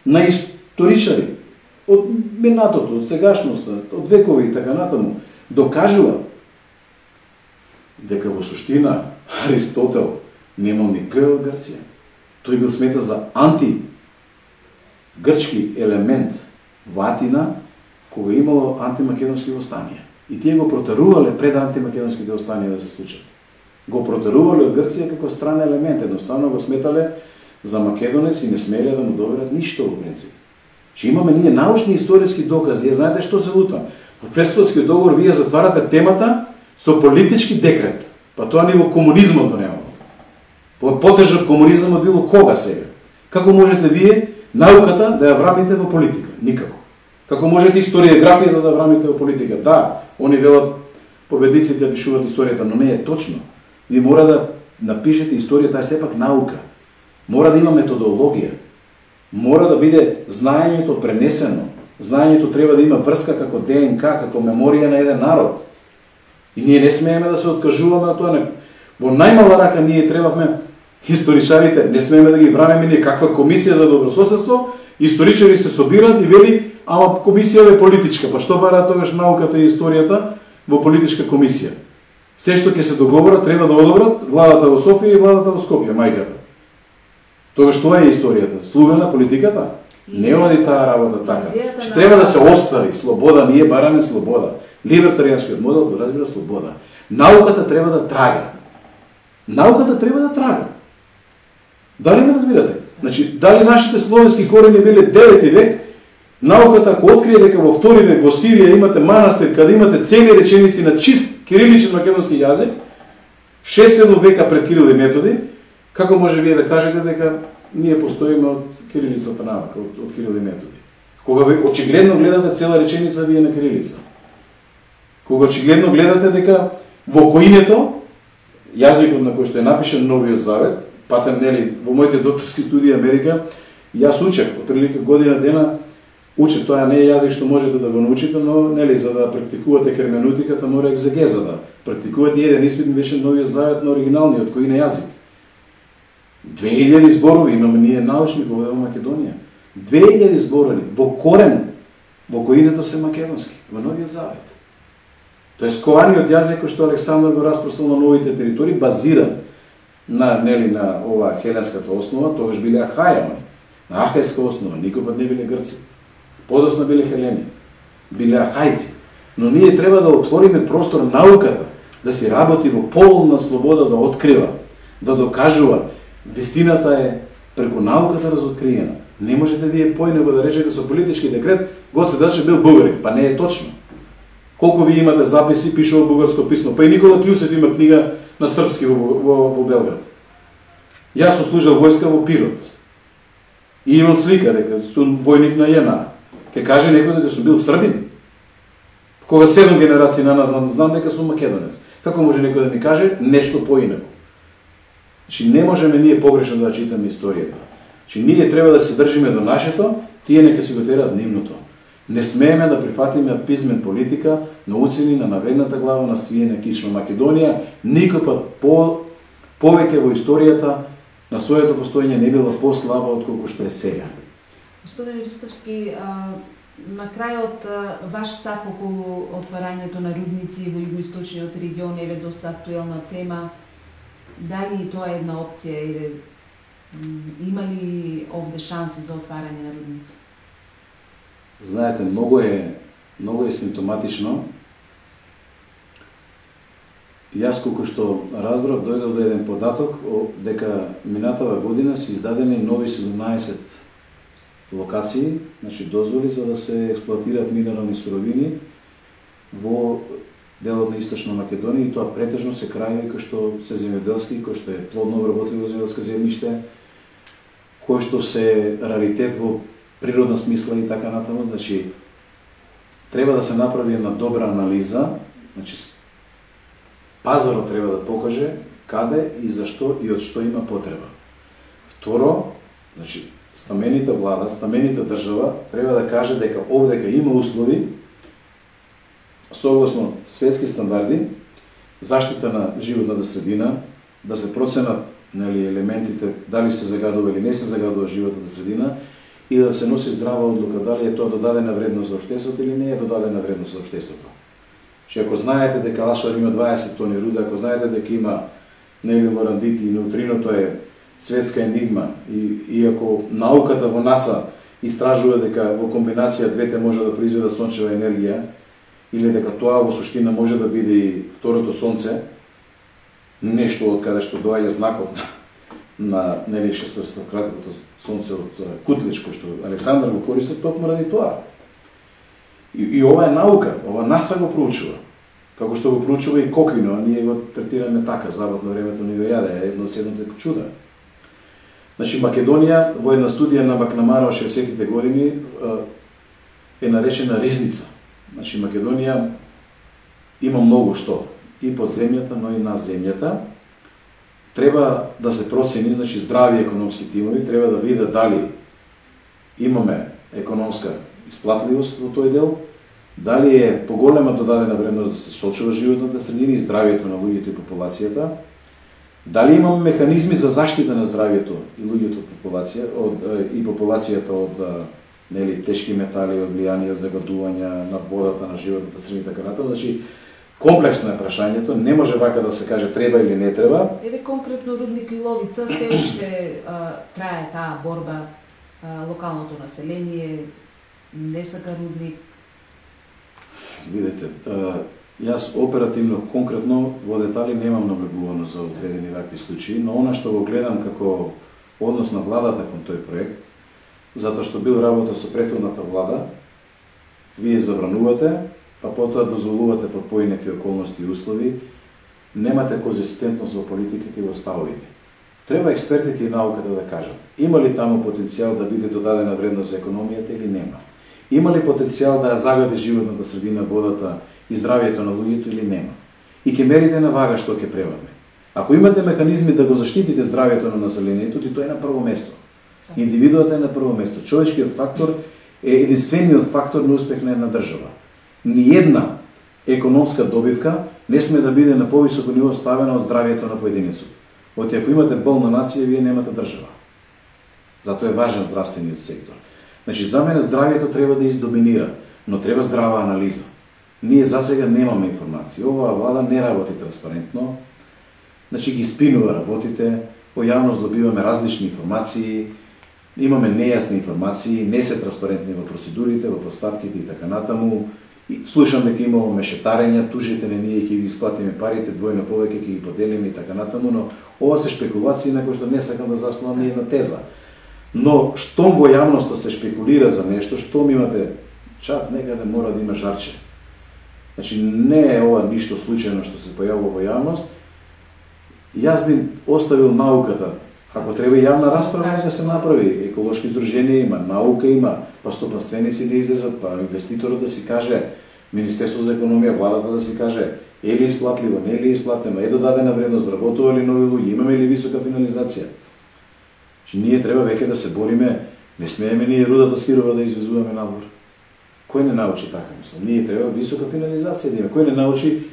на историчари од минатото, од сегашноста, од векови и така натаму, докажува дека во суштина Аристотел немал ни Г од Грција. Тој бил сметан за анти-грчки елемент во Атина, кога имало антимакедонски востанија. И тие го протерувале пред антимакедонските востанија да се случат. Го протерувале од Грција како стран елемент, едноставно го сметале за македонец и не смеле да му доверат ништо во принцип. Че имаме ние научни историски докази, знаете што се лута? Во Преспанскиот договор вие затварате темата со политички декрет. Па тоа ни во комунизмот го немало. Потежок комунизмот било кога сега? Како можете вие науката да ја врамите во политика? Никако. Како можете историографијата да врамите во политика? Да, они велат победниците да пишуваат историјата, но не е точно. Ви мора да напишете историјата, таа е сепак наука. Мора да има методологија. Мора да биде знаењето пренесено. Знаењето треба да има врска како ДНК, како меморија на еден народ. И ние не смееме да се откажуваме од тоа. Во најмала рака ние требавме историчарите, не смееме да ги врамеме ние каква комисија за добрососедство, историчари се собираат и вели, ама комисија е политичка, па што бараат тогаш науката и историјата во политичка комисија? Се што ќе се договорат треба да одобрат владата во Софија и владата во Скопје, мајката. Тогаш тоа е историјата, слуга политиката. Не оди таа работа така. Што треба да се остави слобода, ние бараме слобода. Либертаријанскиот модел го разбира слобода. Науката треба да трага. Науката треба да трага. Дали ме разбирате? Значи, дали нашите словенски корени биле 9 век, науката ако открие дека во 2 век во Сирија имате манастир каде имате цели реченици на чист кириличен македонски јазик, 6-7 века пред Кирил и Методи, како може вие да кажете дека ние постоиме од кирилицата наука, од Кирил и Методи? Кога ви очигледно гледате цела реченица вие на кирилица. Кога очигледно гледате дека во коинето, јазикот на кој што е напишан Новиот Завет, патем нели во моите докторски студии Америка, јас учев, отприлика година дена учев, тоа не е јазик што можете да го научите, но нели за да практикувате херменеутиката мора екзегеза да практикувате. Еден испит беше Новиот Завет на оригиналниот кој на јазик. 2000 зборови имаме ние научни во Македонија. 2000 зборови во корен во коинето се македонски, во Новиот Завет. Тоест кованиот јазик кој што Александар го распрострал на новите територии базиран на нели на ова хеленската основа, тогаш биле ахајани, на ахајска основа, никој пат не биле грци. Подосна биле хелени, биле ахајци. Но ние треба да отвориме простор науката да си работи во полна слобода, да открива, да докажува. Вистината е преку науката разоткриена. Не можете вие поинего да речете со политички декрет Гоце Делчев бил бугарин, па не е точно. Колку ви имате записи, пишува бугарско писмо, па и Никола Кљусев има книга на српски во Белград. Јас сум служил војска во Пирот. И имам слика дека сум војник на ЈНА. Ке каже некој дека сум бил србин. Кога 7 генерации на нас знам дека сум македонец. Како може некој да ми каже нешто поинаку? Значи не можеме ние погрешно да читаме историјата. Значи ние треба да се држиме до нашето, тие нека си го тераат нивното. Не смееме да прифатиме пизмен политика на уцени на наведната глава на свиена кичма. Македонија никој пат повеќе во историјата на своето постоење не била послаба од колку што е сега. Господин Ристовски, на крајот ваш став околу отварањето на рудници во југоисточниот регион е доста актуелна тема. Дали и тоа е една опција или има ли овде шанси за отварање на рудници? Знаете, многу е симптоматично. Јас колку што разбрав, дојдов до еден податок дека минатава година се издадени нови 17 локации, значи дозволи за да се експлоатираат минерални суровини во делот на Источна Македонија, и тоа претежно се крајеви кои што се земјоделски, кои што е плодно обработливо земјоделско земјиште, кои што се раритет во природна смисла и така натаму. Значи треба да се направи една добра анализа, значи пазарот треба да покаже каде и зашто и од што има потреба. Второ, значи стамените влада, стамените држава треба да каже дека овдека има услови согласно светски стандарди, заштита на животната средина, да се проценат елементите, дали се загадува или не се загадува животната средина и да се носи здрава одлука дали е тоа додадена вредност за општеството или не е додадена вредност за општеството. Че ако знаете дека Лашар има 20 тони руда, ако знаете дека има лорандити и неутриното е светска енигма и ако науката во НАСА истражува дека во комбинација двете може да произведат сончева енергија или дека тоа во суштина може да биде и второто сонце, нешто од каде што доаѓа знакот на 600-кратното сонце од Кутлич, кој што Александар го користи токму ради тоа. И ова е наука, ова НАСА го проучува. Како што го проучува и кокино, а ние го третираме така, забот на времето ни го јаде, едно од седмите чуда. Значи, Македонија, во една студија на Макнамара во 60-тите години, е наречена ризница. Значи, Македонија има многу што, и под земјата, но и на земјата. Треба да се процени, значи, здрави економски тимови, треба да видат дали имаме економска исплатливост во тој дел, дали е поголема додадена вредност да се сочува животната средина и здравието на луѓето и популацијата, дали имаме механизми за заштита на здравието и луѓето и популацијата од тешки метали, од влијание, од загадувања на водата, на животната средина и така натаму. Значи, комплексно е прашањето, не може вака да се каже треба или не треба. Еве конкретно Рудник и Ловица, се уште трае таа борба, локалното население не сака рудник. Видете, јас оперативно, конкретно, во детали немам наблегувано за одредени вакви случаи, но она што го гледам како однос на владата кон тој проект, затоа што бил работа со претходната влада, вие забранувате, па потоа дозволувате под поинакви околности и услови, немате конзистентност во политиките и во ставовите. Треба експертите и науката да кажат, има ли таму потенцијал да биде додадена вредност за економијата или нема? Има ли потенцијал да ја загади животната средина, водата и здравието на луѓето или нема? И ќе мерите на вага што ќе превадне. Ако имате механизми да го заштитите здравието на населението, ти тоа е на прво место. Индивидуата е на прво место. Човечкиот фактор е единствениот фактор на успех на една држава. Ниедна економска добивка не сме да биде на повисоко ниво ставена од здравието на поединецот. Оти ако имате болна нација, вие немате држава. Затоа е важен здравствениот сектор. Значи, за мене здравието треба да издоминира, но треба здрава анализа. Ние засега немаме информации. Оваа влада не работи транспарентно, значи ги спинува работите, во јавност добиваме различни информации, имаме нејасни информации, не се транспарентни во процедурите, во постапките и така натаму. Слушам дека имало мешетарења, тужите не ние ќе ги исплатиме парите, двојно повеќе ќе ги поделиме и така натаму, но ова се шпекулации на кои што не сакам да заснувам ни една теза. Но штом во јавноста се шпекулира за нешто, штом имате чат некаде мора да има жарче. Значи не е ова ништо случајно што се појавува во јавност. Јас би оставил науката. Ако треба јавна расправа, нека се направи. Еколошки здруженија има, наука има, па стопанственици да излезат, па инвеститорот да си каже, Министерство за економија, владата да си каже, е ли исплатливо, не е ли исплатено, е додадена вредност, работува ли нови луѓе, имаме ли висока финализација. Че ние треба веќе да се бориме, не смееме ние рудата сирова да извезуваме надвор. Кој не научи така, мислам? Ние треба висока финализација да има. Кој не научи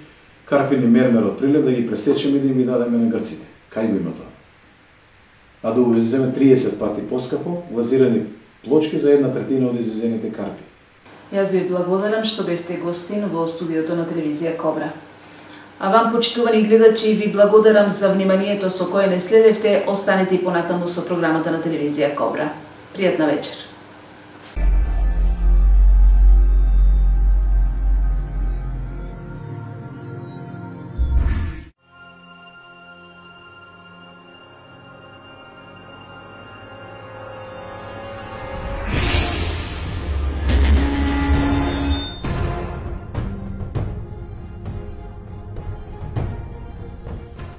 карпин и мермер од прилеп да ги пресечеме и да ги дадеме на грците? Кај го има тоа? А да увеземе 30 пати поскапо глазирани плочки за 1/3 од извезените карпи. Јас ви благодарам што бевте гостин во студиото на телевизија Кобра. А вам, почитувани гледачи, ви благодарам за вниманието со кое не следевте. Останете и понатаму со програмата на телевизија Кобра. Пријатна вечер.